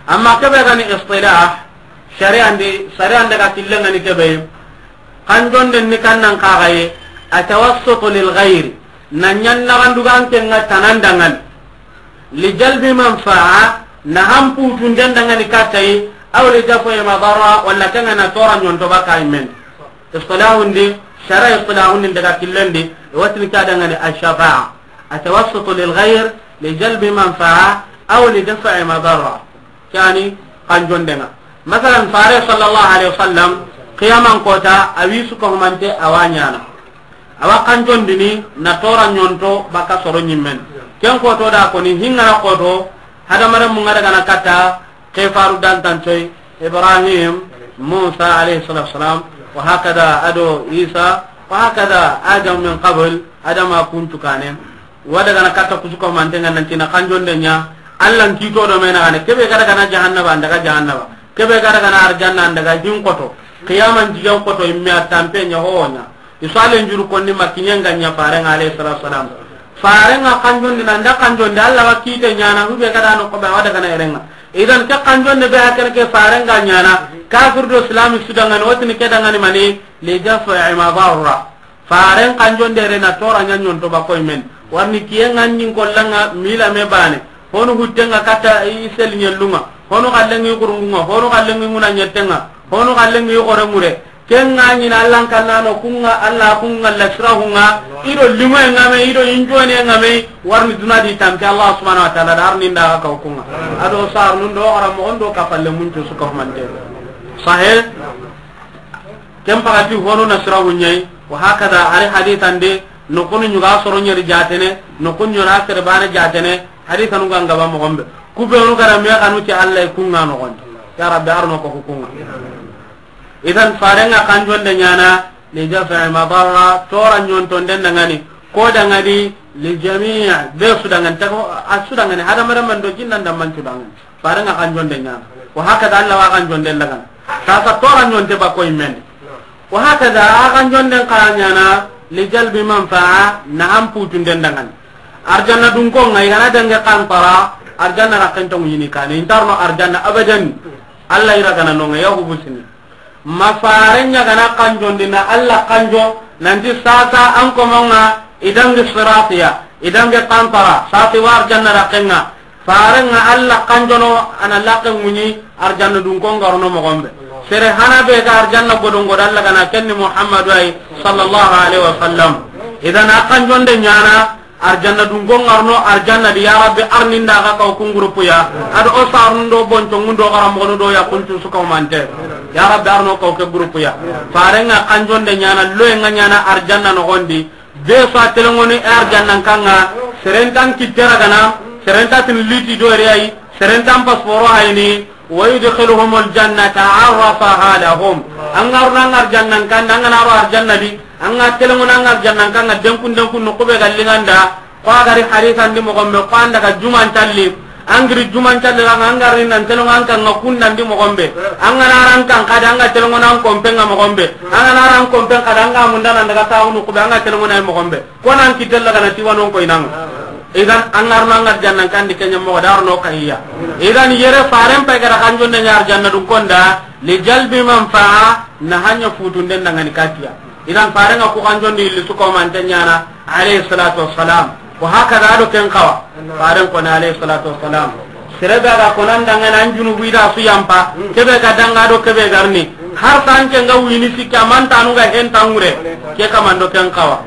Amma kebe ga ni istilah, shari'an di, shari'an daga killen ŋa ni kebe. Kanjonden ni kan nan xa yi, atawassutu lil ghayri, na ɲan na gandugan ken ŋa tanan dangan. Li jalbi manfa'a, na hanputunden dangani katta yi, aw li daf'i madarra, wala ken ŋa na tora ɲonto baka yi men. Istilahun di, shara istilahun di daga killen di, i wa tini ke ya dangani ash-shafa'a. Atawassutu lil ghayr li jalbi manfa'a aw li daf'i madarra. Ke ya ni kanjonde ŋa. Masalan, Fare sallallahu alaihi wasallam, qiyaman kota, a wi su ka humante a wa ɲaana. A wa kanjondini na tora ɲonto baka soro ɲimmen. Ken koto da ko ni hingana koto, hadamaren mun ŋa daga na katta, ke faru dantantoy, Ibrahim, Musa alayhi salatu wasalam, wa hakada a do Isa, wa hakada Adam min qabl, Adama kuntu kane. Wa daga na katta kusu ko manten ŋa nanti na kanjonde ɲa, Alla n kito do me na gane, kebe ga daga na jahannaba, an daga jahannaba, kebe ga daga na arjanna, an daga hin koto, qiyaman jigen koto, imme a tampe ɲa ho ɲa. I su alen juru konni ma kiɲen ga ɲa Faren ŋa alayhi salatu wasalam. Faren ŋa kanjondi na nda kanjondi Alla wa kite ɲaana, hube ga da no ko be wa daga na eren ŋa. Idan ke kanjonde be hakene ke Faren ga ɲaana, kafir do Islam su dangani, o tini ke dangani mani, li daf'i madarra. Faren kanjonde re na tora ɲa ɲonto ba koy men. Warni kiyen ŋa ɲin kollan ŋa mila me baane. Honu hutten ŋa katta i sel ɲellun ŋa. Honu kallen ŋi kurungun ŋa. Honu kallen ŋi ŋuna ɲetten ŋa. Honu kallen ŋi xore ŋure. Ken ŋa ɲi na Alla n kanna no kun ŋa, Alla kun ŋa la sirahun ŋa. I do limoyen ŋa me, i do injonen ŋa me. Warni duna di tampi Allah subhanahu wa ta'ala da arni nda ga kaw kun ŋa. A do sar nun do ara mo ondo ka palle mun to su ka humante. Sahe. Ken pagati hono na sirawu ɲayi, wa hakada ari hadithan de, no kunu ɲuga soro ɲeri jatene, no kunu ɲora sere bane jatene, hadithanu ga ngaba moxon be. Ku be nu gara me kanu ti Allah kun ŋa noxon di. Ya Rabbi, arno ko kun ŋa. Idan Faren ŋa kanjonde ɲaana, li daf'i madarra, tora ɲonton den dangani, ko dangani, li jami', be su dangani, ta ko, a su dangani, hadamaren man do jinnan da man su dangani. Faren ŋa kanjonde ɲaana. Wa hakada Allah wa kanjonde lagana. Sasa tora ɲonte ba koy men. Wa hakada a kanjonden xa ɲaana li jalbi manfa'a na an putunden dangani. Arjanna dun ko ŋa i ga na dange kantara, arjanna ra kento ŋini kane. Intarno arjanna abadan. Allah ira gana no ŋa ya hubusini. Ma Faren ɲa ga na kanjondi na Allah kanjo, nanti sasa an ko mo ŋa i dangi siratiya, i dangi kantara, sati wa arjanna ra kenŋa. Faren ŋa Allah kanjono, a na laqe ŋuɲi arjanna dun ko ŋarono moxon be. Sere hana be ga arjanna godon godo Allah ga na kenni Muhammadu ay sallallahu alaihi wasallam. Idan a kanjonde ɲaana, arjanna dun ko ŋarono arjanna di, ya Rabbi, arni nda ga kaw kun groupe ya. Ado o sarun do bonco ŋundo gara moxonu do ya kuncu su kaw mante. Ya Rabbi, arno kaw ke groupe ya. Faren ŋa kanjonde ɲaana, loye ŋa ɲaana arjanna noxon di. Be fa telenŋoni arjannan kanŋa, seren ta n kitte ragana, seren ta tin liti do re ay, seren ta n pasporo hayni, wa yudkhiluhumul jannata arrafaha lahum. An ga ro na arjannan kanda, an ga na ro arjanna di, an ga telenŋoni arjannan kanŋa, denkun denkun no kube galli ŋa nda, ko a gari hadithan di moxon be, ko an daga juman talli, An giri juman calli ra ŋa, an ga ri nan telonŋo an kan ŋa kundandi moxo be. An ga na ran kan xadi, an ga telonŋo nan kompe ŋa moxo be. An ga na ran kompe xadi, an ga munda nan daga taxunu kube, an ga telonŋo na moxo be. Ko nan kitella ga na tiwanon ko inanga. Idan an ga ri no an ga arjanna kandi kenya moxo da ro no kahiya. Idan yere faren pe ga da kanjonde ɲa arjanna dun konda, li jalbi manfa'a, na hanya futunden dangani katiya. Idan faren ŋa ku kanjondi illi su ko man tenyana, alayhi salatu wassalam. Ko haka da do ken kawa. Faren ko na alayhi salatu wassalam. Sere be ga ko nan dangana an junubu ida su yampa. Kebe ga danga do kebe ga ri ni. Har san ke nga wini sikka man tanu ga hen tangure. Ke kamando ken kawa.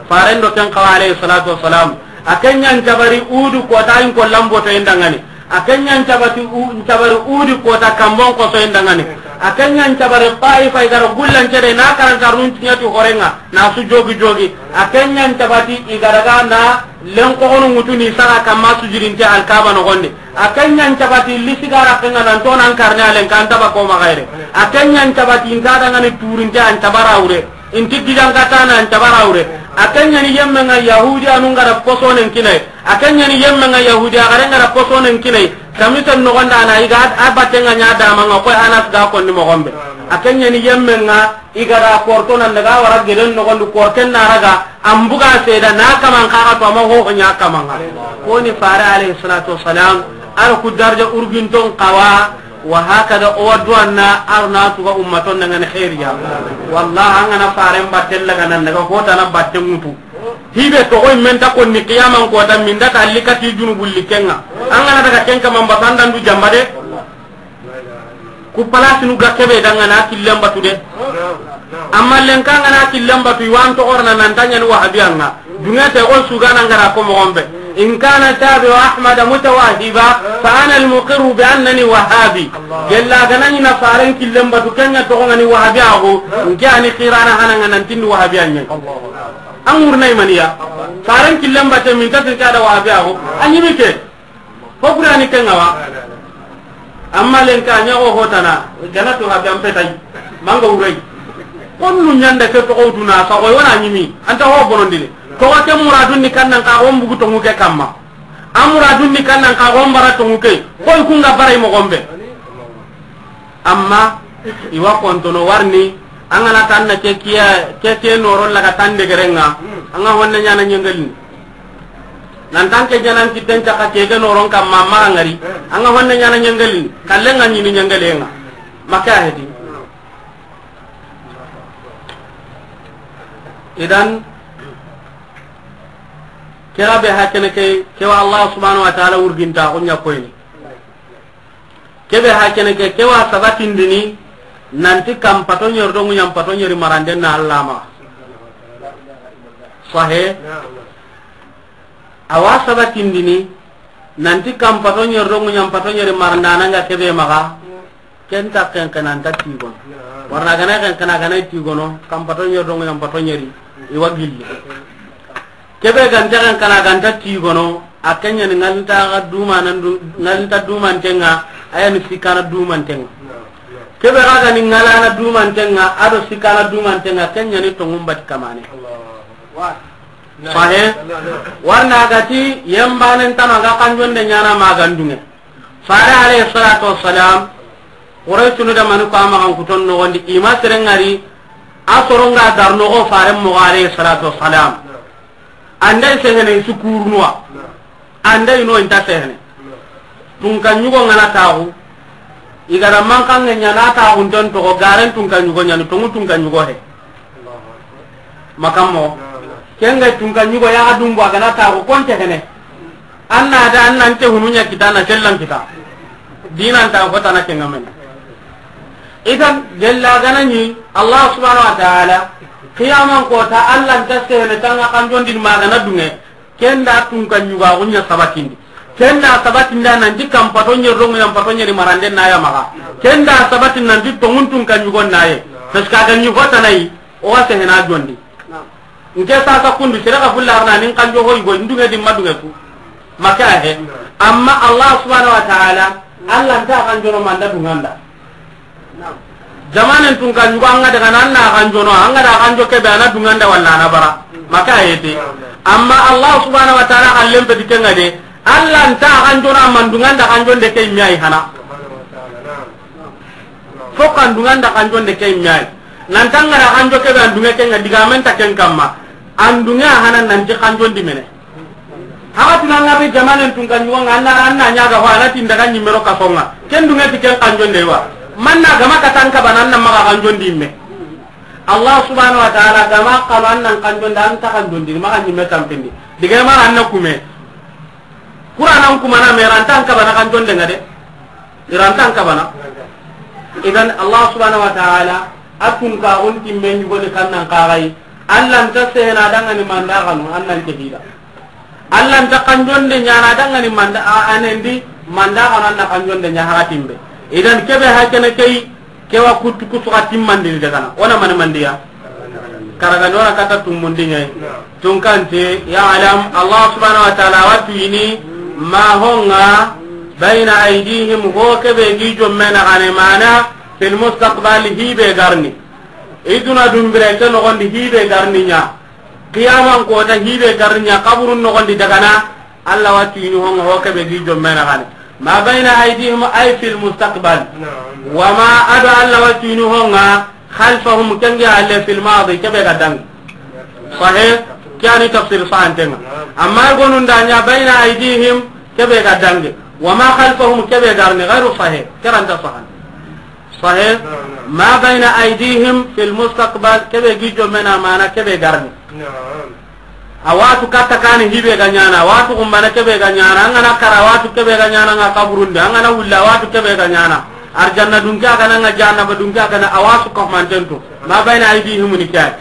Faren do ken kawa alayhi salatu wassalam. A ken ɲa n cabari Uhudu kota in ko lamboto in dangani. A ken ɲa n cabati u-, n cabari Uhudu kota kambon koso in dangani. A ken ɲa n cabari Taifa i ga ra gullan cede na karanta run tiɲati horenga na su jogi jogi. A ken ɲa n cabati i ga daga na len koxonu ŋutu ni saga kamma sujudinte Alkaba noxondi. A ken ɲa n cabati lisi ga ra kenga nan to nan karne a len kan taba ko maxayre. A ken ɲa n cabati in ta dangani turinte an cabara wure. Inti gidan katana an cabara wure. A ken ɲa ni yemme nga Yahudi anu nga da posonen kinai. A ken ɲa ni yemme nga Yahudi a gare nga da posonen kinai. Kamisen noxonda na i ga a batte nga ɲa dama nga koy Anas ga konni moxo be. A ken ɲa ni yemme nga i ga da korto nan daga wara geden noxondi korten na raga an buga seda na kaman kaga to ama hoho ɲa kaman nga. Ko ni fare alayhi salatu wassalam. Ar ku darja urginton kawa. Wa hakada o wa duwanna ar na tuga ummaton dangani xeeriya. Wallah an ga na faren batten laga nan daga hotana batten ŋutu. Hibe toxoy men ta konni qiyaman kota min da ta alli kati junubu likenga. An ga na daga ken kaman basandan du jamba de. Ku palasinu ga kebe dangana killen batu de. Amma lenka an ga na killen batu i wa an toxorna nan ta ɲani wahabiya nga. Dunge te o sugana ngara ko moxo be. In kana tabi'u Ahmada mutawahiba fa ana al-muqirru bi annani wahabi. Gella ga na ɲi na faren killen batu ken ɲa toxo ngani wahabi ago. Nke ani xirana hana nga nan tindi wahabi anye. An ŋurna imaniya. Faren killen batu min ta tin ka da wahabi ago. Anyi mi ke. Ko Qur'ani ken ŋa wa. Amma lenka ɲa o hotana, gana to habe an petay. Manga wuray. Konnu ɲanda ke toxo duna, sa o wona ɲimi. Anta ho bonondini. Toxo ke muradun ni kannan ka o mbugu tongu ke kamma. A muradun ni kannan ka o mbara tongu ke. Koy kunga baray moxo be. Amma i wa kontono warni, an ga na tanna ke kiya, ke ke noron laga tan degerenga, an ga honne ɲana ɲengelini. Nan tan ke janan kitten caka ke ke noron kamma maxa ngari, an ga honne ɲana ɲengelini, kallen ga ɲini ɲengelenga. Maka hedi. Idan, kira be hakene ke, kewa Allah subhanahu wa ta'ala wurginta ko ɲa koyni. Kebe hakene ke, kewa sabatindini, nanti kam pato ɲeri do ŋuɲan pato ɲeri maranden na Allah ma. Sahe. Awa sabatindini, nanti kam pato ɲeri do ŋuɲan pato ɲeri marandana nga kebe maxa. Ken ta ken ken anta tigono. Warna gana ken ken gana tigono, kam pato ɲeri do ŋuɲan pato ɲeri, i wa gilli. Kebe ganta kan kana ganta tigono, a ken ɲa ni ŋalinta dumanan du-, ŋalinta dumantenga, a ya ni sikana dumantenga. Kebe ga ga ni ŋalana dumantenga, a do sikana dumantenga, ken ɲa ni tongun bati kamane. Sahe, warna gati yembanen tama ga kanjonde ɲana magandunge. Fare alayhi salatu wassalam, Qurayshunu da mani ko a maxan kuton noxondi, i ma seren ŋari, a soronga dar noxo faren moxo alayhi salatu wassalam. Anday sehene i su kurunuwa. Anday no inta sehene. Tunka ɲugo ngana taxu, i gara mankange ɲana taxunten toxo, garen tunka ɲugo ɲani, tongu tunka ɲugo he. Makammo. Kenga tunka ɲugo yaxa dumbo a gana taxu konte hene. An na da an nan te hunu ɲa kita na sellan kita. Dinan ta ko tana kenga men. Idan gella gana ni Allah subhanahu wa ta'ala qiyaman kota Allah nta sehene tanga kanjondin magana dunge. Kenda tunka ɲuga gunya sabatindi. Kenda sabatinda nanti kam pato ɲeri do ŋuɲan pato ɲeri marande na ya maxa. Kenda sabatin nanti tongun tunka ɲugo na ye. Parce que a ga ɲi hotanayi, o wa sehena jondi. Nke sasa kundu sere ga fulla arna nin kanjo hoy go ndunge di madunge ku. Maka he. Amma Allah subhanahu wa ta'ala, Allah nta kanjono manda dunganda. Jamanen tunka ɲugo anga daga nan na kanjono, anga da kanjo kebe ana dunganda walla ana bara. Maka he te. Amma Allah subhanahu wa ta'ala kallen pe dikenga de, Alla nta xanjona ma n duŋa nda xanjonde ke yimme yi hana. Fo xa n duŋa nda xanjonde ke yimme yi. Nan ta ŋa ra xanjo ke be an duŋe ke ŋa digamen ta ken kamma. An duŋe a hana nanti xanjondi mene. Haxa tuna ŋa be jamanen tun kan yugo ŋa anna, anna ɲaga ho a na ti n daga ɲimme ro kaso ŋa. Ken duŋe ti ken xanjonde wa. Manna gama katan ka bana anna maxa xanjondi yimme. Allah subhanahu wa ta'ala gama xano annan xanjonde an ta xanjondi maxa ɲimme tampindi. Dige mara anna kume. Qur'anan kumana me rantan kabana kan jonde ŋa de. Irantan kabana. Idan Allah subhanahu wa ta'ala a tun ka on timme ɲugoni kannan kaxayi. Allah nta sehena dangani manda xanu annan ke hida. Allah nta kan jonde ɲana dangani manda a- anendi manda xanu anna kan jonde ɲa haxatimbe. Idan kebe hakene kei. Kewa kuttu kusuxa timmandini dagana. Wona mani mandiya? Karagani wona kata tummundi ɲayi. Tunkante, ya'lam, Allah subhanahu wa ta'ala wa tuyini, ma honga, bayna aydihim, ho kebe gi jomme naxane mana, fil mustaqbal hibe garni. Iduna dumbire ke noxondi hibe garni ɲa. Qiyaman kota hibe garni ɲa, kaburun noxondi dagana, Allah wa tuyini honga ho kebe gi jomme naxane. Ma bayna aydihim ay fil mustaqbal. Wa ma ado Allah wa tuyini honga khalfahum kenge alle fil madi kebe ga dangi. Sahih, kiyani tafsir sahantenga. Amma gonun da ɲa bayna aydihim kebe ga dangi. Wa ma khalfahum kebe garni ghairu sahih. Keranta sahan. Sahih. Ma bayna aydihim fil mustaqbal kebe gi jomme na mana kebe garni. A watu katta kani hibe ga ɲana, watu kumbana kebe ga ɲana, angana kara watu kebe ga ɲana nga kaburunde, angana wulla watu kebe ga ɲana. Arjanna dunke agana nga jahannaba dunke agana a wasu ko mantentu. Ma bayna aydihim ni kay.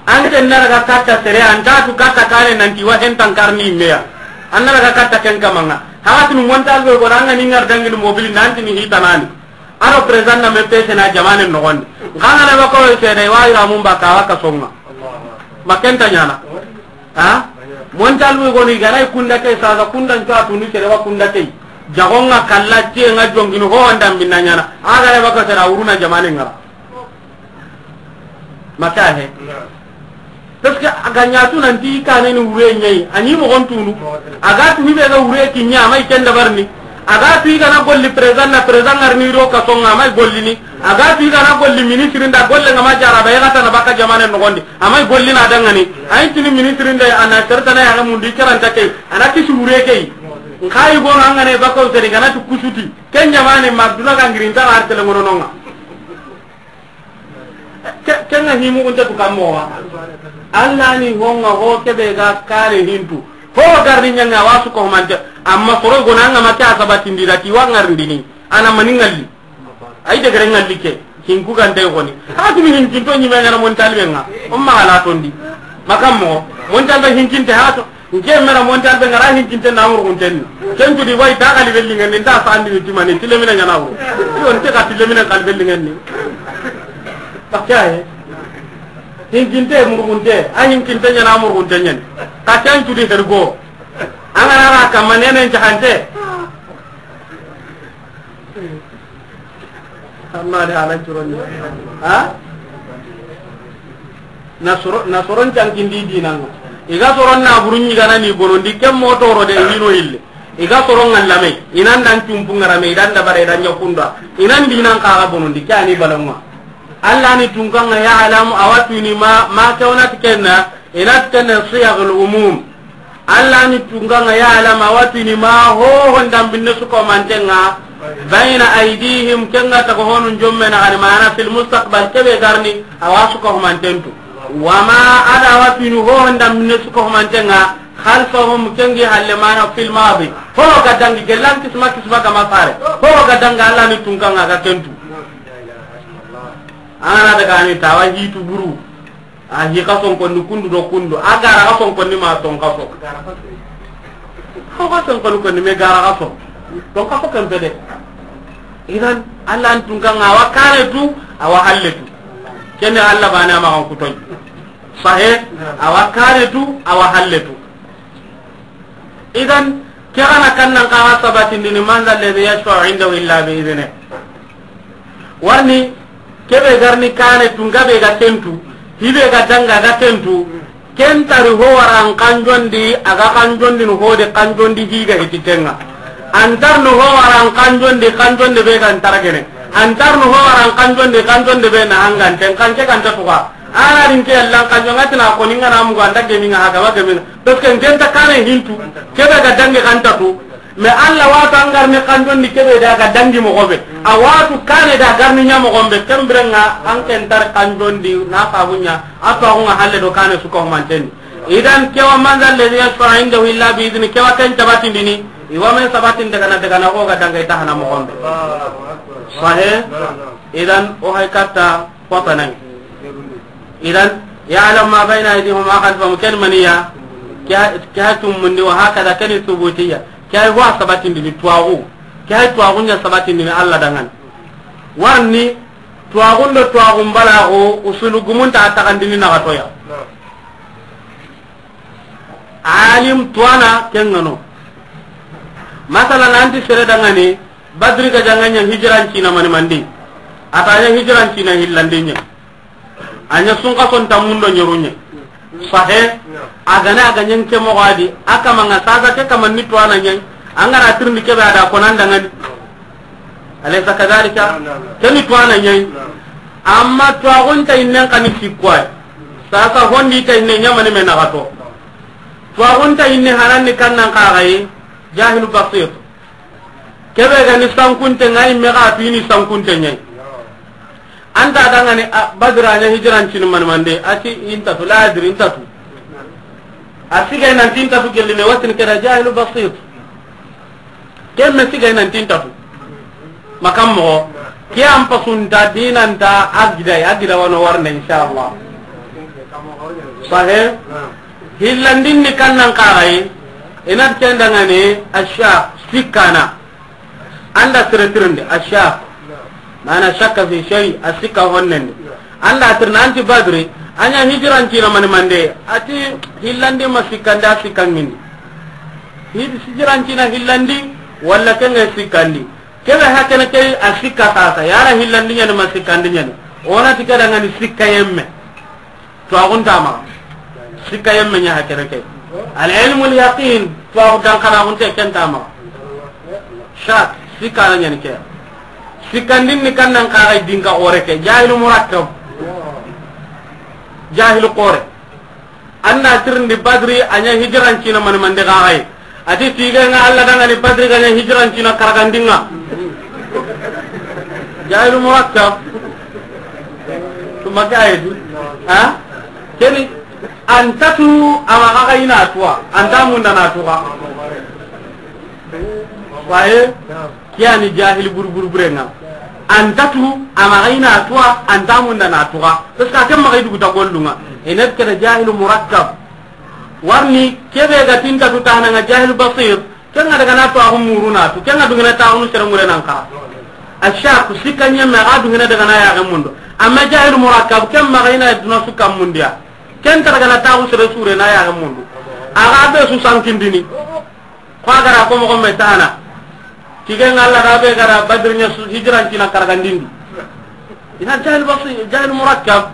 Anke naraga katta sere, antatu katta kane nanti wa hentan karni meya. Annaraga katta ken kamanga. Hawatinu montal be go ranga ni ngar dangini mobili nanti ni hitanani. Aro président na me pese na jamanen noxondi. Nkangana ba ko sede wa ira mun ba kawa kasonga. Makenta ɲana. Ha? Montal wi goni garay kunda ke saga kunda nto atuni sede wa kunda ke. Jagonga kalla tie nga jongini ho wanda minna ɲana. Agare ba ko sede uruna jamanen ngara. Maka he. Parce que a ga ɲa tu nanti i kane ni wure ɲayi, a ɲi moxon tunu. A ga tu hibe ga wure ki ɲa, a ma i ken dabarni. A ga tu i gana golli président na président ngarni ro ka songa, a ma i gollini. A ga tu i gana golli ministre nda golle nga ma jara ba i ga tana baka jamanen noxondi. A ma i gollina dangani. A yi tini ministre nda a na sertana ya ga mundi karanta ke. A na kisi wure ke. Nka i go nga ne baka seri gana tu kusuti. Ken jamane ma duna ga ngirinta artele ngono nonga. Ke-, kenga himu kunta tu kammo wa. Allah ni honga ho kebe ga kare hintu. Ho garni ɲanga wasu ko mante. Amma soro gona nga ma ke a sabatindi da ti wa ngarndini. Ana mani ngalli. Ay de gare ngalli ke. Hinku gande goni. Hatu mi hinkinto ɲime ngara mon talbe nga. Umma ala tondi. Makammo. Mon talbe hinkinte hatu. Nke mera montal be ngara hinkinte na murgunten. Ken tudi way ta gali belli ngani nda sandi ni timani tilemina ɲana wuro. Yo nte ka tilemina kal belli ngani. Bakka he. Hinkinte murgunte, a hinkinte ɲana murgunte ɲani. Ka ken tudi hergo. Angana ra kamane ne jahante. Amma de halan curon ni. Ha? Na soro, na soron cankindi dinanga. I ga soron na burun ɲi gana ni bonondi ken mo toro de hino ille. I ga soron ngallame. Inan dan cumpu ngarame, idan da bare, idan ɲakunda. Inan dinan kaga bonondi, ke ani balanwa. Allah ni tunkanga ya alamu awatuni ma, ma kawnat kenna, inat kenna siyagul umum. Allah ni tunganga ya alama watini ma ho hondan binne su ko mantenga bayna aydihim kenga ta ko honun jomme na gani mana fil mustaqbal kebe garni awa su ko mantentu wama ada watini ho hondan binne su ko mantenga khalfahum kengi halle mana fil madi ho ga dangi gelan kisma kisma ga mafare ho ga danga Allah ni tunganga ga kentu ana daga ni tawa hitu buru A hi xa sonkonni kundu do kundu. A gara xa sonkonni ma ton xa so. Xa xa sonkonni konni me gara xa so. Ton xa so kan pede. Idan Allah an tun kan awa kare tu, awa halle tu. Kene Allah bana ma kan kutoy. Sahe, awa kare tu, awa halle tu. Idan ke gana kannan kaga sabatindini man dha alladhi yashfa'u indahu illa bi idhnih. Warni kebe garni kane tu ngabe ga tentu hibe ga danga ga tentu. Ken tari ho waran kanjondi, a ga kanjondini ho de kanjondi higa hititenga. Antarni ho waran kanjondi, kanjonde be ga ntaragene. Antarni ho waran kanjondi, kanjonde be na hanganten, kanke kanta tuga. Ana rinke yallan kanjonga tina ko ninga na mugo anda geminga haga ba geminga. Parce que ngenta kane hintu, kebe ga dange kanta tu. Mais Allah watu an garni kanjondi kebe da ga dangi moxo be. A watu kane da garni ɲa moxo be. Kembirenga an ken tar kanjondi na fabunya. A to agunga halle do kane suko manten. Idan kewa manzal ladhi yashfa'u indahu illa bi idni, kewa ken tabatindini. Iwa men sabatin daga na daga na ko ga danga ita hana moxo be. Sahih. Idan o hay katta. Kotanan. Idan, ya'lamu ma bayna aydihim wa ma khalfahum, ken maniya, ke ha tumundi, wa hakada, ken subutiya, ke ha wa sabatindini tuwaxu, ke ha tuwaxu ɲa sabatindini Allah dangan. Warni, tuwaxun do tuwaxun balaxu, usulu gumunta a taxandini naxatoya. Alim tuwana ken ŋa no. Masalan, anti sere dangani, Badri ga janga ɲa hijiran cina mani mandi. A ta ɲa hijiran cina hillandi ɲa. A ɲa sunka son tammundo ɲeru ɲa. Sahe, a gane a ga ɲen ke moxo a di, a kama ŋa sasa ke kama ni tuwana ɲa. An ga na tirindi kebe a da konan dangani. Alaysa kadhalika? Ke ni tuwana ɲa. Amma tuwaxun ta innen kani sikkoy. Sasa hondi ta inne ɲa mani me naxato. Tuwaxun ta inne hanan ni kannan kaxayi, jahilu basit. Kebe ga ni sankunte ŋa, i me ga tu i ni sankunte ɲa. Anta dangani, a, Badra ɲa hijiran cini mani mande, a ti inta tu, la adri inta tu. A sigay nanti inta tu gelli me watin keda jahilu basit. Ken me sigay nanti inta tu. Makam moxo. Ke an pasunta dinanta a gida, a gida wano warne, inshallah. Sahe? Hillandin ni kannan kaxayi, inat ken dangani, asha, sikkana. Anda sere tirindi, asha. Mana shakka fi shay, a sikka honnendi. Anda tirna anti Badri, a ɲa hijiran cina mani mande, a ti hillandi ma sikkandi, a sikkangindi. Hid-, hijiran cina hillandi, walla kenga sikkandi. Kebe hakene ke a sikka sasa, yara hillandi ɲani ma sikkandi ɲani. Ona ti ke dangani sikka yemme. Tuwaxun ta maxa. Sikka yemme ɲa hakene ke. Al ilmul yaqin, tuwaxu dankanaxunte ken ta maxa. Shak, sikka na ɲani ke. Sikkandin ni kannan kaxay dinka xore ke. Jahilu murakkab. Jahilu xore. Anda tirindi Badri, a ɲa hijiran cina mani mande kaxay. A ti tiga ŋa Allah dangani Badri ga ɲa hijiran cina karagandinga. Jahilu murakkab. Tuma ke ayedi. Ha? Keni antatu ama kaga ina tuwa. Anta munda na tuwa. Waye. Kiyani jahil buru buru burenga. Antatu ama kaga ina tuwa, anta munda na tuwa. Parce que ake maga idugu ta gollunga. Enet keda jahilu murakkab. Warni kebe ga tinta tu tananga jahil basir. Kenga daga na to agu muru na tu. Kenga dungena ta agu sere mure nan ka. Ashaku sikka ɲemme ga dungena daga na ya ga mundo. Amma jahil murakkab ken maga ina duna sukka mundiya. Ken ta daga na ta agu sere sure na ya ga mundo. Aga be su sankindini. Ko agara ko mo me tana. Tigen Allah ga be gara Badr nya su hijran tina karagandindi. Idan jahil basi-, jahil murakkab.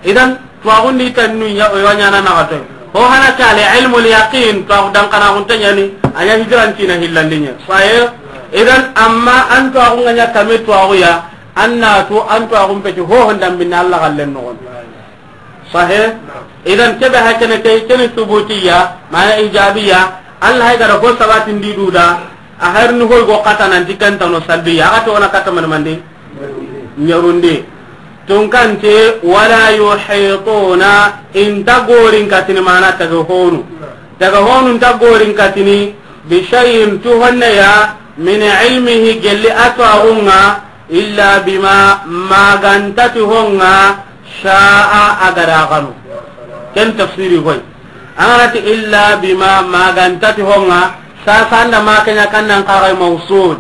Idan tuwaxundi tannu ya, o ɲana na gato. Ho hana kale ilmul yaqin, tuwaxu dankanaxunte ɲani, a ɲa hijran tina hillandiɲe. Saye, idan amma an tuwaxu ŋa ɲa kame tuwaxu ya, an na tu an tuwaxun peti ho hondan binna Allah gallen noxon. Sahe? Idan kebe hakene ke, keni subutiya, mana ijabiya, Allah hay gara ho sabatindi duda, a harni hoy go kata nanti kentano salbiya, aga to ona kata man mande? Ɲarundi. Tunkante, wala yuhituna, inta gorin katini mana taga honu. Taga honu inta gorin katini, bi shay'in tu honne ya, min ilmihi gelli atwaxunga, illa bima magantati honga sha'a agada ganu. Ken tafsiri hoy. Anganati illa bima magantati honga, sasa anda makanya kannan kagai mausul.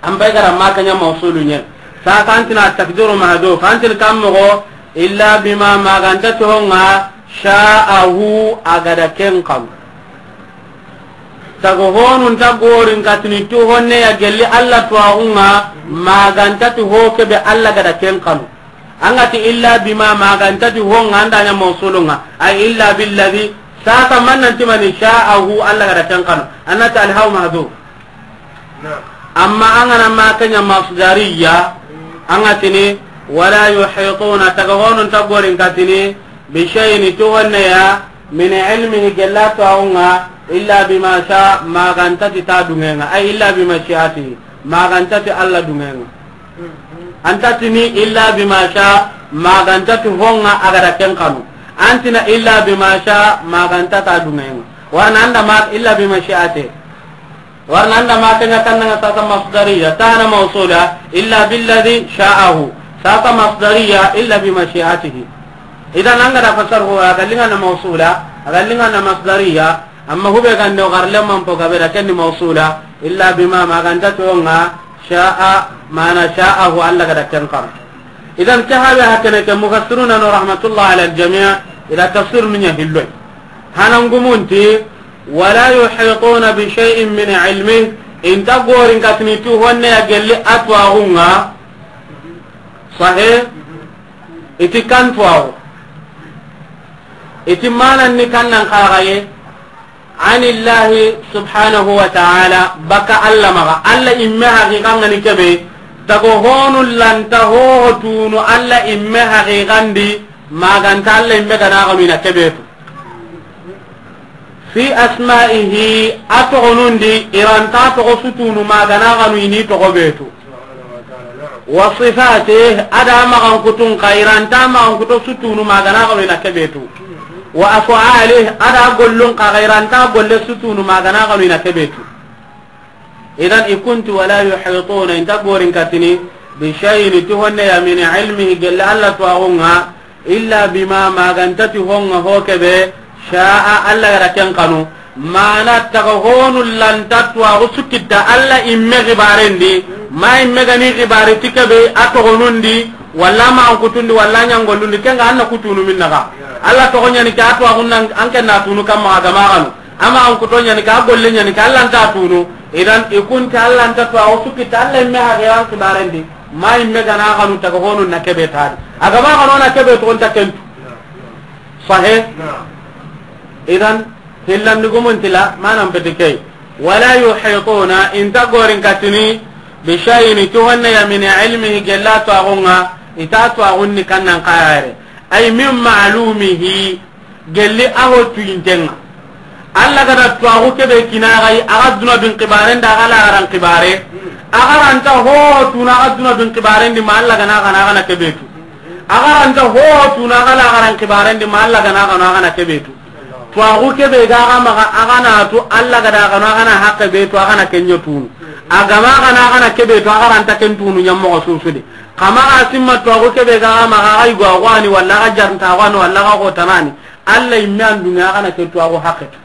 Ambai gara makanya mausulu nye. Sasa antina takdiru mahduf. Antin kammogo illa bima magantati honga sha'ahu agada ken kanu. Tago honun ta gorin katini tu honne ya gelli Allah tuwaxunga, magantati ho kebe Allah gada ken kanu. An ga ti illa bima, ma ga nta ti ho ŋa, an da ɲa mawsulun ŋa. Ay illa billadhi, sasa man nan ti mani, sha'ahu, Alla ga da ken xanu. An na ti alhaw mahzuf. Amma an ga na ma ken ɲa masdariya, an ga tini, wala yuhituna, taga honu nta gorin katini, bi shay'in, ti honne ya, min ilmihi, gella tuwaxu ŋa, illa bima sha, ma ga nta ti ta duŋe ŋa, ay illa bi mashi'atihi, ma ga nta ti Alla duŋe ŋa. An ta tini illa bima sha, ma ga nta ti ho ŋa a ga da ken xanu. An ti na illa bima sha, ma ga nta ta duŋe ŋa. Warna an da ma illa bi mashi'atihi. Warna an da ma ken ɲa kanna ŋa sasa masdariya, ta na mawsula, illa billadhi sha'ahu. Sasa masdariya, illa bi mashi'atihi. Idan an ga da fasar ho, a ga liŋa na mawsula, a ga liŋa na masdariya, amma hube ga nde o xarle man po gabe da ken ni mawsula, illa bima, ma ga nta ti ho ŋa, sha'a, mana sha'ahu, Alla ga da ken xanu. Idan ke habe hakene ke mufassiruna no rahmatullah ala al-jami', ila tafsir nu ɲa hilloy. Hanan gumun ti, wala yuhituna bi shay'in min ilmihi, i nta gorin katini ti honne ya gelli a tuwaxu ŋa. Sahih? I ti kan tuwaxu. I ti manan ni kannan xaxaye. Anillahi subhanahu wa ta'ala, baka Alla maxa. Alla imme haqiqa ŋa ni kebe. Tago honu lanta ho tunu Alla imme haqiqan di, ma ga nta Alla imme ga na xanu i na kebe tu. Fi asma'ihi, a toxonun di, i ra nta toxo su tunu ma ga na xanu i ni toxo be tu. Wa sifatih, a da maxankutun xa, i ra nta maxankuto su tunu ma ga na xanu i na kebe tu. Wa af'alih, a da gollun xa, i ra nta golle su tunu ma ga na xanu i na kebe tu. Idan i kunti wala yuhituna, i nta gorin katini, bi shay'in, ti honne ya, min ilmihi, gelli Alla tuwaxu ŋa, illa bima, ma ga nta ti ho ŋa ho kebe, sha'a, Alla ga da ken xanu. Mana taga honu lanta tuwaxu su kita Alla imme xibaren di, ma imme ga ni xibari ti kebe a toxonun di, walla maxankutun di, walla ɲangollun di, ken ŋa an na ku tunu minna xa. Alla toxo ɲa ni ke a tuwaxun nan, an ken na tunu kamma a ga ma xanu. A maxankuto ɲa ni ke, a golle ɲa ni ke, Alla nta tunu. Idan i kunti Alla nta tuwaxu su kita Alla imme haqiqan xibaren di, ma imme ga na xanu taga honu na kebe ta di. A ga ma xanu na kebe tu, o nta ken tu. Sahih? Idan, hillandugumun ti la, manan peti key. Wala yuhituna, i nta gorin katini, bi shay'in, ti honne ya, min ilmihi, gella tuwaxu ŋa, i ta tuwaxun ni kannan xayare. Ay min ma'lumihi, gelli a ho tuyinten ŋa. Alla ga da tuwaxu kebe kina xa yi, a ga duna bin xibaren da, a ga laxaran xibare. A ga ra nta ho tunu a ga duna bin xibaren di, ma Alla ga na xanu a ga na kebe tu. A ga ra nta ho tunu a ga laxaran xibaren di, ma Alla ga na xanu a ga na kebe tu. Tuwaxu kebe ga xa maxa, a ga na tu, Alla ga da xanu a ga na haqqe be tu, a ga na ken ɲa tunu. A ga ma xanu a ga na kebe tu, a ga ra nta ken tunu ɲa moxo su su di. Xa maxa simma tuwaxu kebe ga xa maxa, a ga yigo a xo a ni, walla a ga jarnta a xo a ni, walla a ga xotanani. Alla imme an duŋe a ga na ke tuwaxu haqqe tu.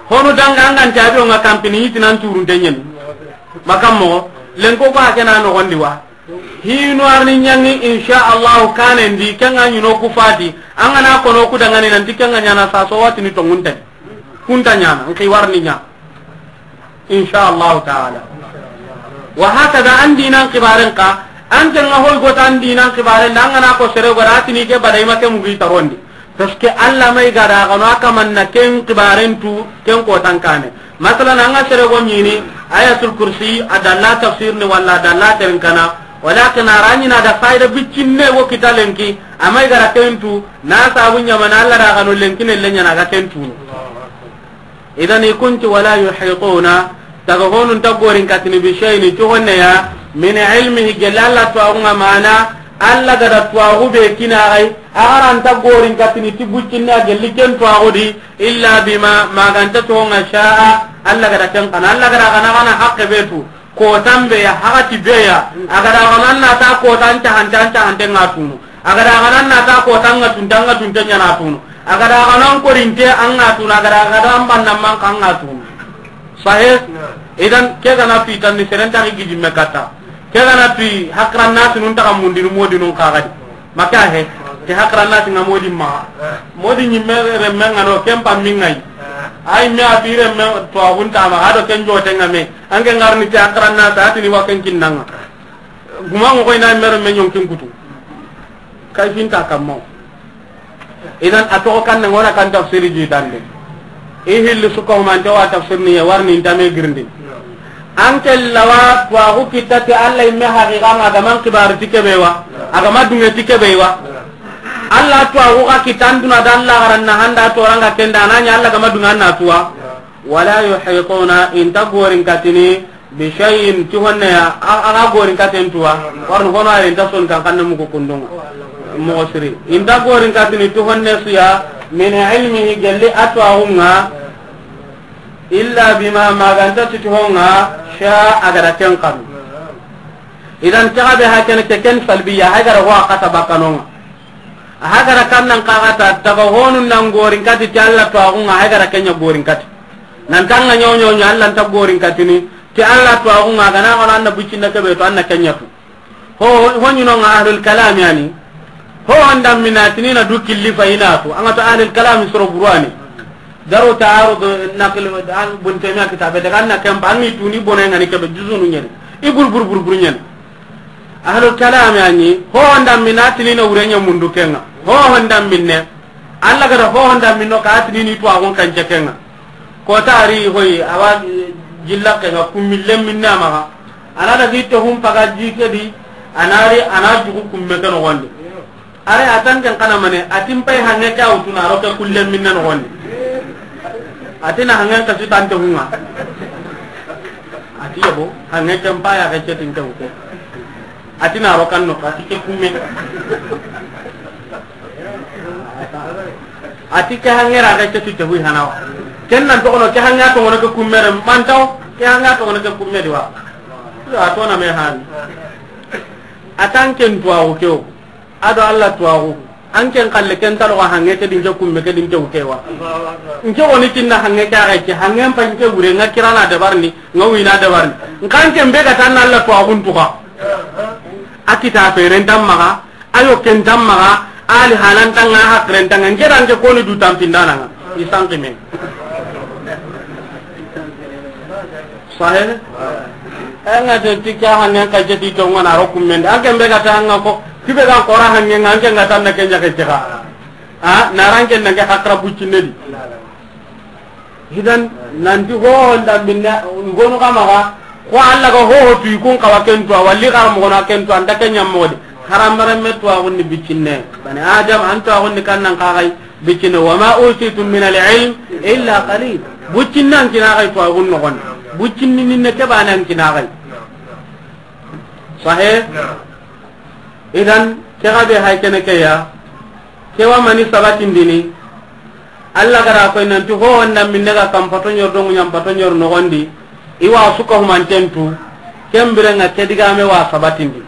Honu danga an ga nta avion ŋa kampini, i ti nan turunte ɲeni. Makan moxo, lenko ko a ke na noxon di wa. Hinu arni ɲaŋi, insha Allahu kanen di, ken ŋa ɲi no ku fati, an ga na kono ku dangani nanti ken ŋa ɲaana saso, wa tini tonŋunte. Ku nta ɲaana, n xi warni ɲa. Insha Allahu ta'ala. Wa hakada an dinan xibaren xa, an ken ŋa hoy gota an dinan xibaren da, an ga na ko sere gora, a tini ke bada i ma ke mugi tarondi. Parce que Alla ma i ga da xanu a kaman na ken xibaren tu, ken kotan kane. Masalan, an ga sere go ɲini, Ayatul Kursi, a dalla tafsir ni walla a dalla terinkana, walakin a ra ɲi na da fayda biccinne wo kita lenki, a ma i ga da ken tu, na sabu ɲamana Alla da xanu lenki ne le ɲaana ga ken tunu. Idan i kunti wala yuhituna, taga honu nta gorin katini bi shay'in, ti honne ya, min ilmihi, gella Alla tuwaxu ŋa, mana Alla ga da tuwaxu be kina xa yi, a ga ra nta gorin katini ti buccinne a gelli ken tuwaxu di, illa bima, ma ga nta ti ho ŋa, sha'a, Alla ga da ken xanu, Alla ga da xanu a ga na haqqe be tu. Kotan be ya, hakati be ya, a ga da xanu an na ta kotan cahante, an cahante ŋa tunu. A ga da xanu an na ta kotan ŋa tunte, an ŋa tunte ɲaana tunu. A ga da xanu an korinte an ŋa tunu, a ga da xanu an banna man xa an ŋa tunu. Sahih? Idan ke ga na tu i tan ni seren ta gidi me kata. Ke ga na tu i hakran na tunun ta mundinu modinun xa gadi. Maka he, ke hakran na tinga modi ma. Modi ɲimme remme ŋa no, ken pa mi ŋa yi. Ay me a bi remme tuwaxun ta ma, a do ken jote ŋa me. An ke ŋarni te hakran na ta tini wa ken kinnanga. Guma ŋo koy na mero me ɲonkin kutu. Kayfinta kammo. Idan a toxo kan na ŋona kan tafsiri jitande. I hilli suka humante wa tafsir ni ye warni intame girindi. An ke lawa tuwaxu kitta ti Allah imme haqiqa ŋa, a ga man kibari ti kebe wa, a ga ma dunge ti kebe wa. Allah tuwaxu xa kitta an duna da Allah xaran na handa toranga kenda, a na ɲa Allah ga ma dunge an na tuwa. Wala yuhituna, inta gorin katini, bi shay'in, ti honne ya, a, a ga gorin katen tuwa. Warni hono ayen ta son kan kanne muku kundunga. Moxo siri. Inta gorin katini ti honne su ya, min ilmihi, gelli a tuwaxu ŋa, illa bima, ma ga nta ti ti ho ŋa, sha, a ga da ken kanu. Idan ke ga be ha kene ke ken salbiya, hay ga da ho a kata bakano ŋa. A hay ga da kan nan kaxata, taga honu nan gorin kati ti Allah tuwaxu ŋa, hay ga da kenya gorin kati. Nan tanga ɲo ɲo ɲo, Allah nta gorin katini ti Allah tuwaxu ŋa, a ga na xana an na bucinna kebe to, an na kenya tu. Ho, ho ɲi no ŋa ahlul kalam yani. Ho anda minatini na du killi fa ina tu. An ga to ahlul kalam soro burani. Daru ta'arud naql an Ibn Taymiyyah kitabe daga an na kemba an ni tuni bone ŋa ni kebe juzunu ɲani. I bur bur bur bur ɲani. Ahlul kalam yani, ho anda minatini na wurenya mundu kenga. Ho anda minne. Allah ga da ho anda minno ka atini ni tuwaxun kan cekenga. Ko tari hoyi, awa jilla kenga kummi lemminna maxa. A na da gi to hum paga ji ke di, a na ri, a na jugu kumme ke noxondi. Are a tan ken kana mane, a ti n pay hange ke a wutuna, a ro ke kulle minne noxondi. A ti na hangen kasu tante hunga. A ti yabo, hange ke n pay a ke cetin ke wute. A ti na ro kan no, a ti ke kumme. A ti ke hangera ke ceti te hui hanawa. Ken nan toxono ke hanga toxono ke kummere mantaw, ke hanga toxono ke kumme diwa. A to na me han. A tan ken tuwaxu ke o. Ado Allah tuwaxu. An ken kalle ken taloxa hange ke din ke kumme ke din ke wutewa. Nke woni tinna hange ke axe ke hange mpa nke wure nga kirana dabarni, nga wina dabarni. Nkan ken be ga tan Allah tuwaxun tuxa. A kita feren tan maxa, ayo ken tan maxa, ali halan tanga, hakiren tanga, nke dan ke koni du tampindana nga. Isan kime. Sahe? Anga te ti ka hanen ka jeti to ngana ro kumende. Ake mbe ga ta anga ko, kibe ga kora hanne nga, anke nga tan na kenya ke tiga. Ha, naranke nanke hakra buccinedi. Idan, nanti ho honda minna, ngonu kama ga, ko Allah ga ho ho tu ikun kawa kentu, walli kar mo na kentu, anda kenya modi. Haram bare me tu agun ni biccinne. Bani Adam an tu agun ni kannan kagai. Bicine, wa ma utitum min al-ilm illa qalil. Buccinnan kinaxay to agun noxon. Buccinni ninne ke banan kinaxay. Sahe? Idan, ke xa be hay kene ke ya. Ke wa mani sabatindini. Allah gara koy nanti ho wanda minne ga kam pato ñor dongu ñam pato ñor noxondi. Iwa suka humantentu. Ken birenga ke digame wa sabatindi.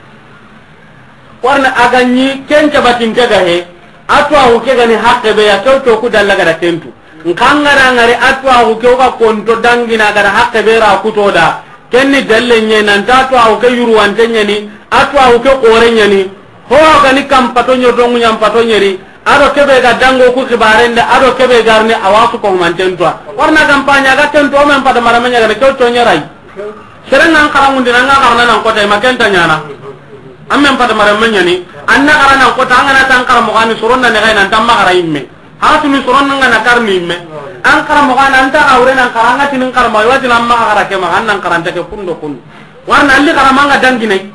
Warna a ga ñi ken cabatinte ga he, a tuwaxu ke ga ni haqqe be ya, kew to ku dalla ga da kentu. Nxa nga da ngari a tuwaxu ke ga konto dangina ga da haqqe be ra kuto da, ken ni dalle ñe nan ta tuwaxu ke yurwante ñani, a tuwaxu ke xore ñani, ho ga ni kam pato ño dongu ñam pato ñeri, a do kebe ga dango ku xibarende, a do kebe garni a wa su ko manten tuwa. Warna kampanya ga kentu o men pata marama ña ga na kew to ñerai. Serenga an xarangundi na nga xarana nan kota ma kenta ñana. An men pata mare men ñani. An na xarana nan kota an ga na tan xara mo gani soronna ne gayna tan ma xara imme. Hatuni soronna nga na karni imme. An xara mo gana an ta awre nan xaranga tinin xara ma wati nan ma xara ke ma an nan xaranta ke kundo kun. Warna alli xara manga dangine.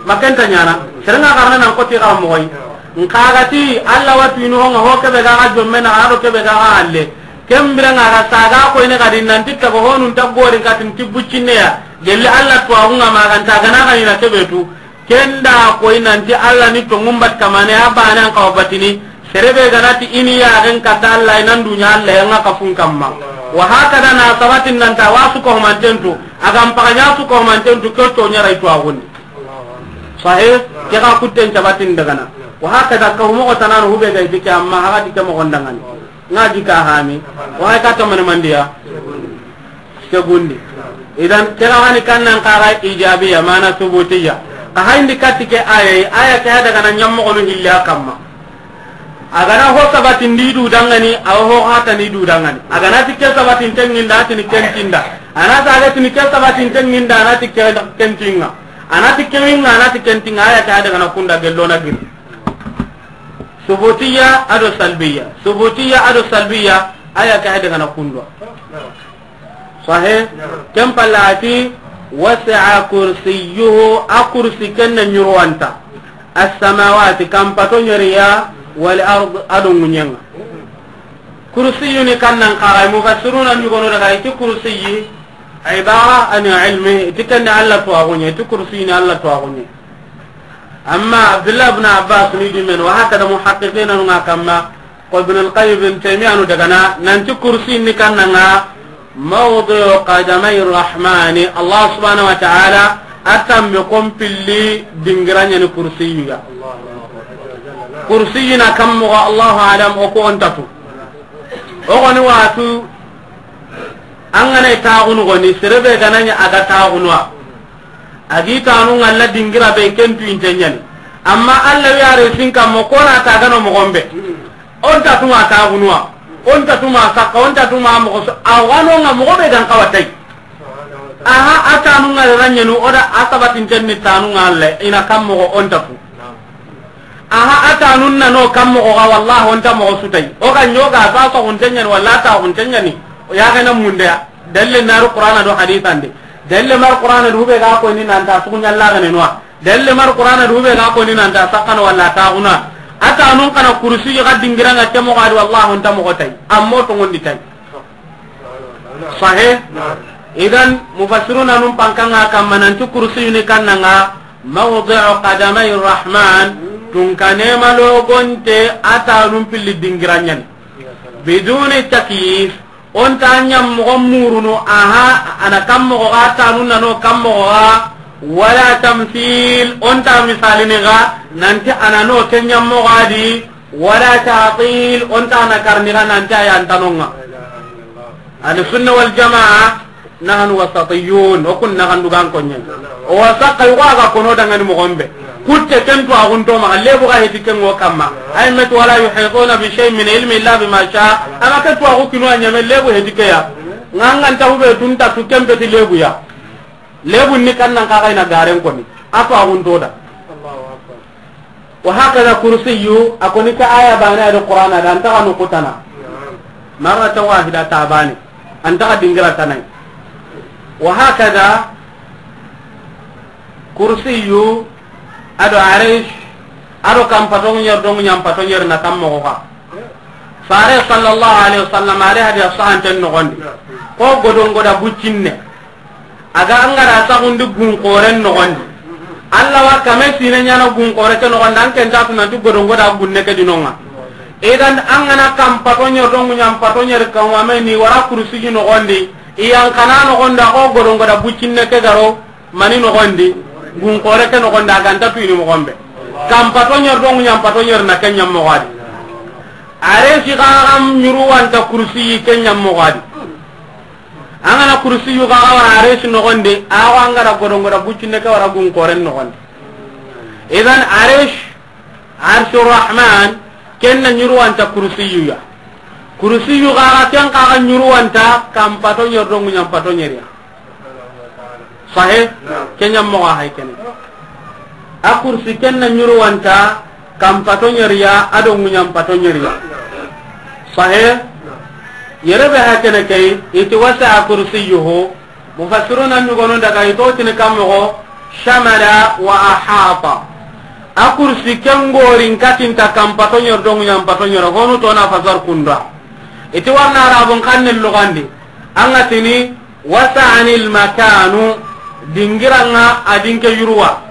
Ma kenta ñana. Serenga xarana nan koti xara mo goy. Nxagati Allah watu inu honga ho kebe ga ga jomme na ado kebe ga ga alle. Kembira nga ga saga ko ine ga din nan titta ko honun ta gori katin tibbucinne ya. Gelli Allah to agunga maganta gana ga ina kebetu. Kenda ko inanti Allah ni to ngumbat kamane abana an kawa batini. Serebe ganati ini ya ren kata Allah inan dunya Allah yanga kafun kamma. Wa hakada na sabatin nan ta wasu ko mantentu. Agam paganya su ko mantentu ko to nyara itu agun. Sahih, ke ga kutten sabatin dagana. Wa hakada ka humo ko tanan hube ga dike amma haga dike mo gondangani. Nga di ka hani. Wa ka to man mandiya. Segundi. Idan kira hani kannan kara ijabiya mana subutiya. Ka hayndi katike aya, aya ke hada kana nyammo kono hilli akamma. Agana ho sabati ndi du dangani, aw ho hata ni du dangani. Agana tikke sabati tenginda tini kentinda. Ana saga tini ke sabati tenginda ana tikke kentinga. Ana tikke winga ana tikke kentinga aya ke hada kana kunda gello na giri. Subutiya ado salbiya. Subutiya ado salbiya, aya ke hede gana kundwa. Sahe? Ken palla ati, "Wasi'a kursiyyuhu", a kursi ken na ñurwanta. "As-samawati", kampato ñeriya, "wal ard", ado ŋuñenga. Kursiyuni kannan kaga, mufassiruna ñugono daga, iti kursiyi, ibara ani ilmi, iti kenne Allah tuwaxuñe, iti kursiyini Allah tuwaxuñe. Amma Abdullah ibn Abbas ni dimen, wa hakada muhaqqiqina nunga kamma, ko Ibn al-Qayyim, Ibn Taymiyyah nu dagana, nanti kursi ni kannanga, mawdi'u qadamay rahmani, Allah subhanahu wa ta'ala, a tambe kon pilli dingiranya ni kursiyu ya. Kursiyu na kammo ga Allahu alam, o ko on tatu. O goni watu, an gana taxunu goni, serebe gananya aga taxunwa. A gi tanu ŋalla dingira be ken tu inte ñani. Amma Allah wi are sin kammo ko na ta gano moxo be. On ta tuma taxunuwa. On ta tuma sakka, on ta tuma moxo so, a wano nga moxo be gan kawa tay. Aha, a tanu ŋalla ranyanu, o da a sabatinten ni tanu ŋalla, ina kam moxo on ta tu. Aha, a tanun na no kam moxo ga, wallahi on ta moxo su tay. O ga ñoga sa so hunten ñani, walla ta hunten ñani. O ya ga na munde ya. Dalle naru Qur'ana do hadithan de. Dalle mar Qur'ana do be ga ko ni nan ta su ñalla ga ne noa. Dalle mar Qur'ana do be ga ko ni nan ta sakkan walla ta guna. A tanun kana kursi ga dingira nga ke moxo ga di, wallahi on ta moxo tay. Ammo to ngondi tay. Sahe? Idan mufassiruna num pankanga kamma nanti kursiyu ni kannanga mawdi'u qadamay rahman, tunkane malogonte a tanun pilli dingiranyan. Biduni takyif, on ta ñam moxo murunu, aha, ana kam moxo ga tanun nano kam moxo ga, wala tamthil, on ta misalini ga nanti ana no ke ñam moxo ga di, wala ta'til, on ta na karni ga nanti a yan tanonga. Ahlu sunna wal jamaa, nahnu wasatiyun, o kun na gandu gan konye. O wasaka yugo aga kono dangani moxo be. Kutte ken tu agun to ma lebu ga heti ken ngo kamma. Ay met wala yuhituna bi shay'in min ilmi illa bima sha. Ama ke tu agu kinu a ñame lebu heti ke ya. Ngangan ta hube tun ta tu kembe ti lebu ya. Lebu ni kannan kaga ina garen koni. A tu agun to da. Wa hakada kursiyu, a koni ka aya bane ado Qur'ana da, an ta ga nukutana. Marratan wahida ta bane. An ta ga dingira tanai. Wa hakada kursiyu, ado arish, ado kam pato ñer do ñam pato ñer na kam moxo ga. Fare sallallahu alaihi wasallam, are hadiya sahanten noxondi. Ko godon goda buccinne. Aga angara saxundi gun xoren noxondi. Allah wa kame sine ñana gun xore ke noxondi, an ken ta tunanti godon goda gunne ke dinonga. Idan an gana kam pato ñer do ñam pato ñer kan wa me ni wara kursi ji noxondi. Iyan kana noxondi, a ko godon goda buccinne ke garo. Mani noxondi, gun xore ke noxondi, a ganta tuyini moxo be. Kam pato ñer do ñam pato ñer na ke ñam moxo ga di. Are si xa kam ñuru wanta kursi ke ñam moxo ga di. An gana kursi yu xa wara are si noxondi, a wa angara godon goda buccinne ke wara gun xore noxondi. Idan are si Arshu Rahman, ken na ñuruwanta kursiyu ya. Kursiyu xaxa, ken xaxa ñuruwanta kam pato ñer do ŋuñan pato ñeriya. Sahe? Ken ñam moxo hay kene. A kursi ken na ñuruwanta kam pato ñeriya, a do ŋuñan pato ñeriya. Sahe? Yere be ha kene kay, iti wasi'a kursiyuhu. Mufassiruna ñugonu daga i to tini kan moxo, shamala wa ahata. A kursi ken gorin katinta kam pato ñer do ŋuñan pato ñer, honu to na fasar kunda. Iti warna arabun xannen lugandi. An ga tini wasa'anil makanu, dingiranga a dinke yuruwa.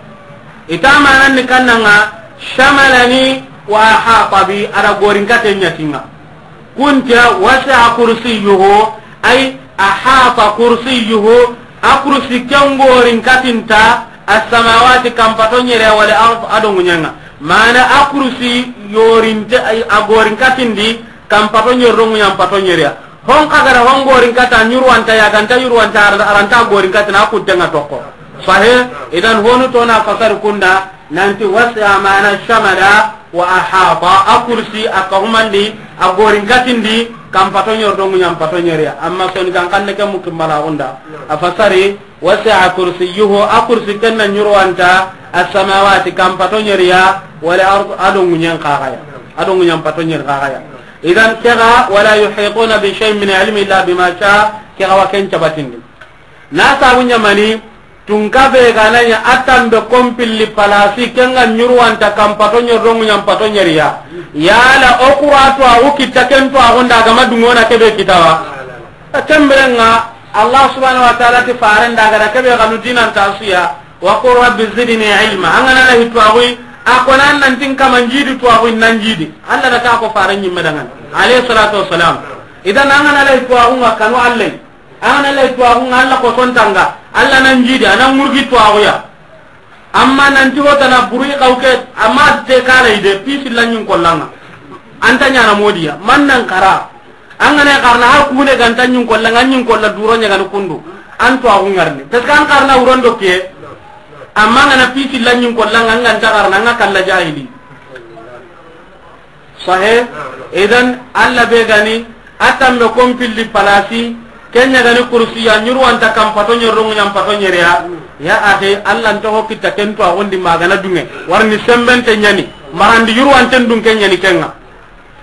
Ita manan ni kannanga, shamalani wa ahata bi, a da gorin katen ñatinga. Kunta wasi'a kursiyuhu, ay ahata kursiyuhu, a kursi ken gorin katinta, as-samawati kam pato ñere, wal ard a do ŋuñanga. Mana a kursi yorinte, ay a gorin katindi, kam pato ñer do ŋuñan pato ñeriya. Hon xa gara hon gorin kata ñuruwanta ya ganta ñuruwanta aranta, aranta gorin katina a kuttenga tokko. Sahe, idan honu to na fasar kunda, nanti wasi'a mana shamala wa ahata, a kursi a kahumandi, a gorin katindi, kam pato ñer do ŋuñan pato ñeriya. Amma soni kan xanne ke mukim bala unda. A fasari, wasi'a kursiyuhu, a kursi ken na ñuruwanta, as-samawati kam pato ñeriya, wal ard a do ŋuñen xaxaya. A do ŋuɲan pato ɲeri xaxaya. Idan ke ga, wala yuhituna bi shay'in min ilmi illa bima sha, ke ga wa ken cabatindi. Na sabu ɲamani, tunka be ga na ɲa a tanbe konpilli palasi, ken ga ɲuruwanta kan pato ɲeri do ŋuɲan pato ɲeriya. Yala o kura tuwaxu kitta ken tuwaxu nda ga ma duŋe o na ke be kitawa. Ken biren ŋa, Allah subhanahu wa ta'ala ti faren da ga da ke be ga nu dinan ta su ya. Wa qul rabbi zidni ilma. An ga na la hi tuwaxu yi, a ko nan nan tin kama n jidi tuwaxu yi, nan jidi. Allah da ta ko faren ɲimme dangan. Alayhi salatu wassalam. Idan an ga na la hi tuwaxu ŋa kanu Allah. An ga na la hi tuwaxu ŋa Allah ko son tanga. Allah nan jidi, a nan ŋurgi tuwaxu ya. Amma nan ti hotana buru i xawke, amma te kala ide, pisi la ɲin kollanga. An ta ɲana modiya, man nan kara. An ga na xarana ha kune ga nta ɲin kollanga, ɲin kolla duro ɲa ga ni kundu. An tuwaxu ŋarni. Parce que an xarana wuron do ke. Amma an ga na pisi la ɲin kollanga, an ga nta xarana, an ga kalla jahili. Sahe, idan Allah be ga ni a tanbe konpilli palasi, ken ɲa ga ni kursiya, ɲuruwanta kan pato ɲeri do ŋuɲan pato ɲeriya. Ya akhi, Allah nta ho kitta ken tuwaxu ndi ma ga na duŋe. Warni sembente ɲani, marandi ɲuruwanten dun ken ɲani ken ŋa.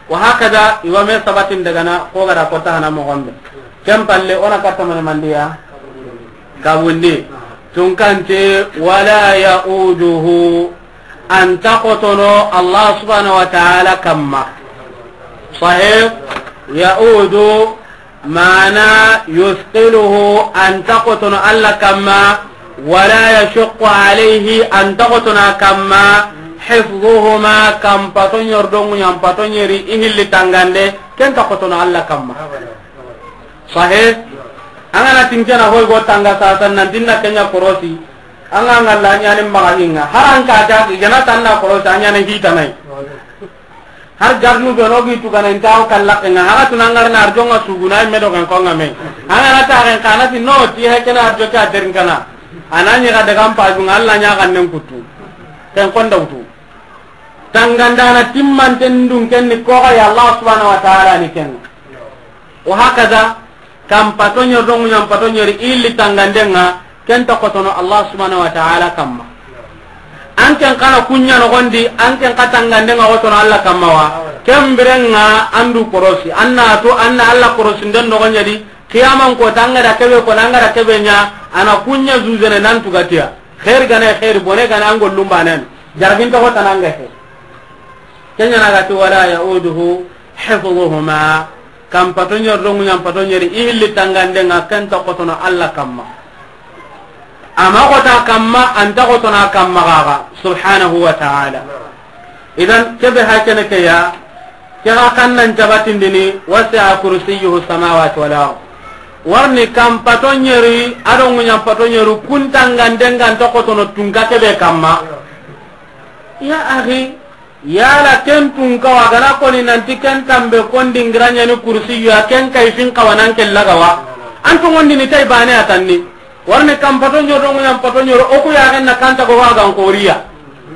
Wa hakada, i wa me sabatin daga na, ko ga da ko ta hana moxo be. Ken palle, o na katta mani mandiya. Kabundi. Tunkante, wala yauduhu. An ta xotono Allah subhanahu wa ta'ala kamma. Sahih? Yaudu, mana yusqiluhu, an ta xotono Allah kamma, wala yashuqqu alayhi, an ta xotono a kamma, hifdhuhuma, kan pato ɲeri do ŋuɲan pato ɲeri, i hilli tangande, ken ta xotono Allah kamma. Sahih? An ga na tin ke na hoy go tanga sasan nan tin na ken ɲa korosi. An ga ŋalla ɲani maxa hinga. Haran ka ta i ga na tan na korosi, a ɲana hitanai. Har garnu be no gi tu ga na inta o kalla ke ŋa. Haga tun an ga na arjo ŋa suguna me do kan ko ŋa me. An ga na ta ken kana ti no ti he ke na arjo ka derin kana. A na ɲi ga daga mpa ju ŋa Allah ɲa ga nen kutu. Ken kon da wutu. Tangandana timmanten dun ken ni ko ga ya Allah subhanahu wa ta'ala ni ken. Wa hakaza, kan pato ɲeri do ŋuɲan pato ɲeri i hilli tanganden ŋa, ken ta xotono Allah subhanahu wa ta'ala kamma. An ken xa na ku ɲa noxondi, an ken xa tanganden ŋa xotono Allah kamma wa. Ken biren ŋa an du korosi, an na to, an na Allah korosinden noxo ɲa di, qiyaman ko ta an ga da ke be ko, an ga da ke be ɲa, a na ku ɲa zuzene nan tugatiya. Xeeri ga na xeeri, bone ga na an gollun banen. Jarabin ta xotana an ga he. Ken ɲa na ga ti wala yauduhu hifdhuhuma. Kan pato ɲeri do ŋuɲan pato ɲeri i hilli tanganden ŋa, ken ta xotono Allah kamma. A ma xota kamma, an ta xotono a kamma gaga, subhanahu wa ta'ala. Idan ke be ha ke ne ke ya, ke ga kan nan jabatindini, wasi'a kursiyyuhu samawati wal ard. Warni kan pato ɲeri a do ŋuɲan pato ɲeri kun tanganden ŋa, an ta xotono tunka ke be kamma. Ya akhi, yala ken tunka wa ga na ko ni nan ti ken tanbe kon dingira ɲani kursiyu ya, ken kayfin xawa nan ke laga wa. An tongondini tay bane a tanni. Warni kan pato ɲeri do ŋuɲan pato ɲeri, o ku ya ga na kan ta go wa ga n xoriya.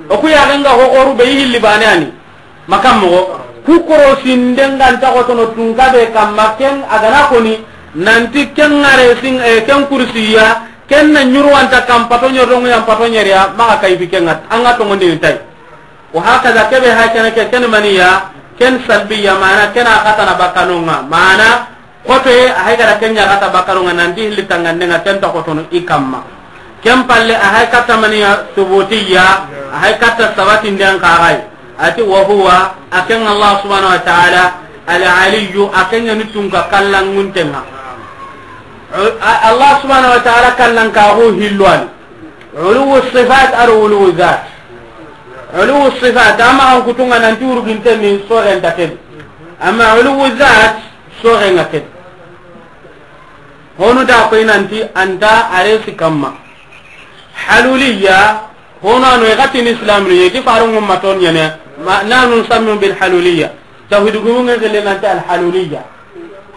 O ku ya ga n ga ho xoru be i hilli bane a ni. Makan moxo, ku korosinden ŋa an ta xotono tunka be kamma, ken a ga na ko ni nan ti ken ŋare sin, eh, ken kursiya, ken na ɲuruwanta kan pato ɲeri do ŋuɲan pato ɲeri ya, maxa kayfi ken ŋa, an ga tongondini tay. Wa hakaza ke be ha ke ne ke, ken maniya, ken salbiya, mana ken a xatana bakkanun ŋa, mana xotoye, a hay ga da ken ɲa xata bakkanun ŋa, nan ti hilli tanganden ŋa, ken ta xotono i kamma. Ken palle, a hay katta maniya subutiya, a hay katta sabatinden xa gay. A ti wa huwa, a ken Allah subhanahu wa ta'ala, al aliyyu, a ken ɲa ni tunka kallanŋunten ŋa. A-, Allah subhanahu wa ta'ala kallankaxu hillu a ni. Uluwu sifat a do uluwu zat. Uluwu sifat, a ma an kutunga nan ti wurginten ni soxen ta ken. Amma uluwu zat, soxen ŋa ken. Honu da koy nan ti an ta aresi kamma. Haluliya, honu a no i ga ti ni Islam ni, i ti faru ŋumma ton ɲene, ma, nanu sammu bil haluliya. Tawhid gumu ŋe gele nan ti al haluliya.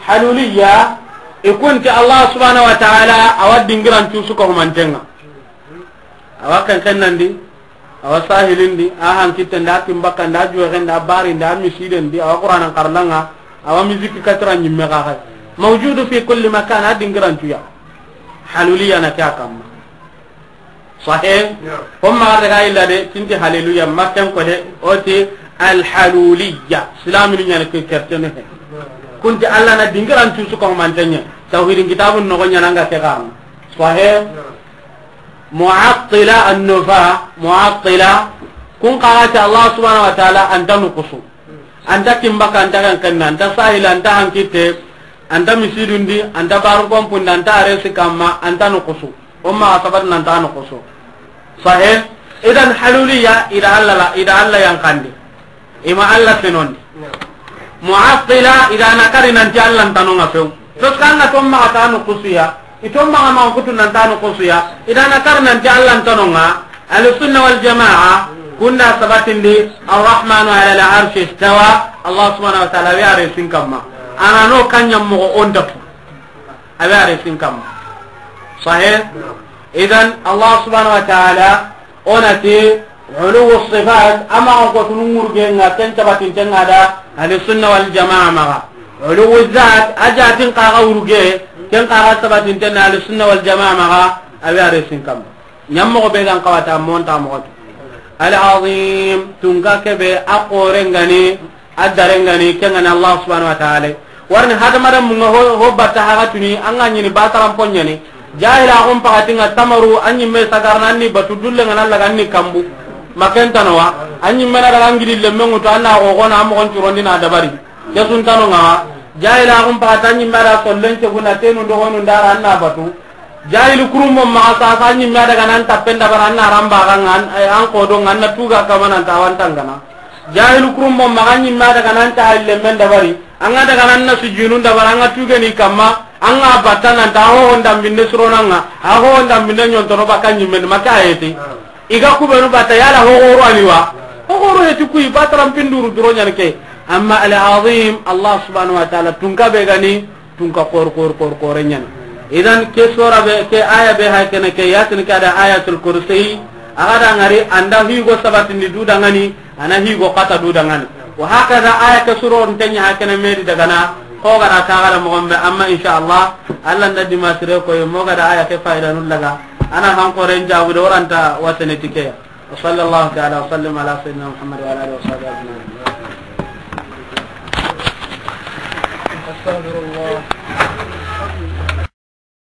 Haluliya, i kun ti Allah subhanahu wa ta'ala, a wa dingiran tu su ko manten ŋa. A wa ken ken nan di, a wa sahilin di, a hankitten di, a kimbakkan di, a juwexen di, a barin di, a misiden di, a wa Qur'anan xarlan ŋa, a wa musique katra ɲimme xa xay. Mawjudu fi kulli makan, a dingiran tu ya. Haluliya na ke a kamma. Sahih? Naam. Ko ma daga illa de, tinti haleluya, makken ko de, o ti Alhaluliya, silaminu ɲani ke kertene he. Kunti Allah na dingiran tusu ko mantanya. Tawhidin kitabun no ɲana nga ke kan. Sahih. Mu'attila annufa, mu'attila. Kun qarati Allah subhanahu wa ta'ala anta nukusu. Anta kimbaka, anta kan kanna, anta sahila, anta hankitte, anta misidundi, anta barun kompundi, anta aresi kamma, anta nukusu. Umma asabat nanta nukusu. Sahih. Idan haluliya ida Allah la, ida Allah yankandi. Ima Allah fenondi. Mu'attila, ida na kari nanti Allah ntano nga few. Tos kanga to maxa ta nukusuya. Ito maxa ma kutu nanta nukusuya. Ida na kari nanti Allah ntano nga. Ahlu sunna wal jamaa, kunda sabatindi, Arrahmanu ala al arshi istawa, Allah subhanahu wa ta'ala, a wi a resin kamma. Ana no kanya moxo o nda tu. A wi a resin kamma. Sahih? Idan, Allah subhanahu wa ta'ala, onati, uluwu sifat, ama ko tunu ngurge nga ken sabatinten nga da, ahlu sunna wal jamaa maxa. Uluwu zat, a jatin kaga urge, ken kaga sabatinten ahlu sunna wal jamaa maxa, a wi a resin kamma. Ɲammoxo be gan kawata monta moxo tu. Al azim, tunka kebe a xore ngani, a dare ngani, ke ngani Allah subhanahu wa ta'ala. Warni hadamada munga ho, ho batta haga tuni, anga ɲini bataran ponyani. Jahila xum pakatinga tamaru, anyi me sagarna anni batu dulle ngana laga anni kambu. Makentano wa, anyi mena daga ngidi lemmengu to anna xo xona amoxon curondi na dabari. Kesuntano nga wa, jahila xum pakata anyi mera sollen ceguna tenu ndoxonu ndara anna batu. Jahili kurumbo maxa sasa ɲimme a daga nan tappen dabari, an na ramba ga an, eh, an kodo nga, an na tuga kamana nta wantangana. Jahili kurumbo maxa ɲimme a daga nan ta halle men dabari, an ga daga nan na sujunu dabari, an ga tuge ni kamma, an ga batta nan ta ho honda mbinde suronanga, a ho honda mbinde ɲontono baka ɲimme ma ka heti. Iga kubenu batta yala ho goro ani wa. Ho goro heti kuyi bataran pinduru duro ɲan ke. Amma al azim, Allah subhanahu wa ta'ala tunka be gani, tunka kor, kor, kor, kore ɲani. Idan ke sora be, ke aya be hay kene ke, yatin ke ada Ayatul Kursi, aga da ngari anda higo sabatindi du dangani, ana higo kata du dangani. Wa hakaza aya ke suro ntenya hay kene meri dagana, ko gara ka gara mo gombe, amma insha Allah, Allah nda dimasire ko mo gada aya ke faida nul daga. Ana han ko ren jabu do ranta wasene tikeya. وصلى الله تعالى وسلم على سيدنا محمد وعلى آله وصحبه أجمعين. أستغفر الله.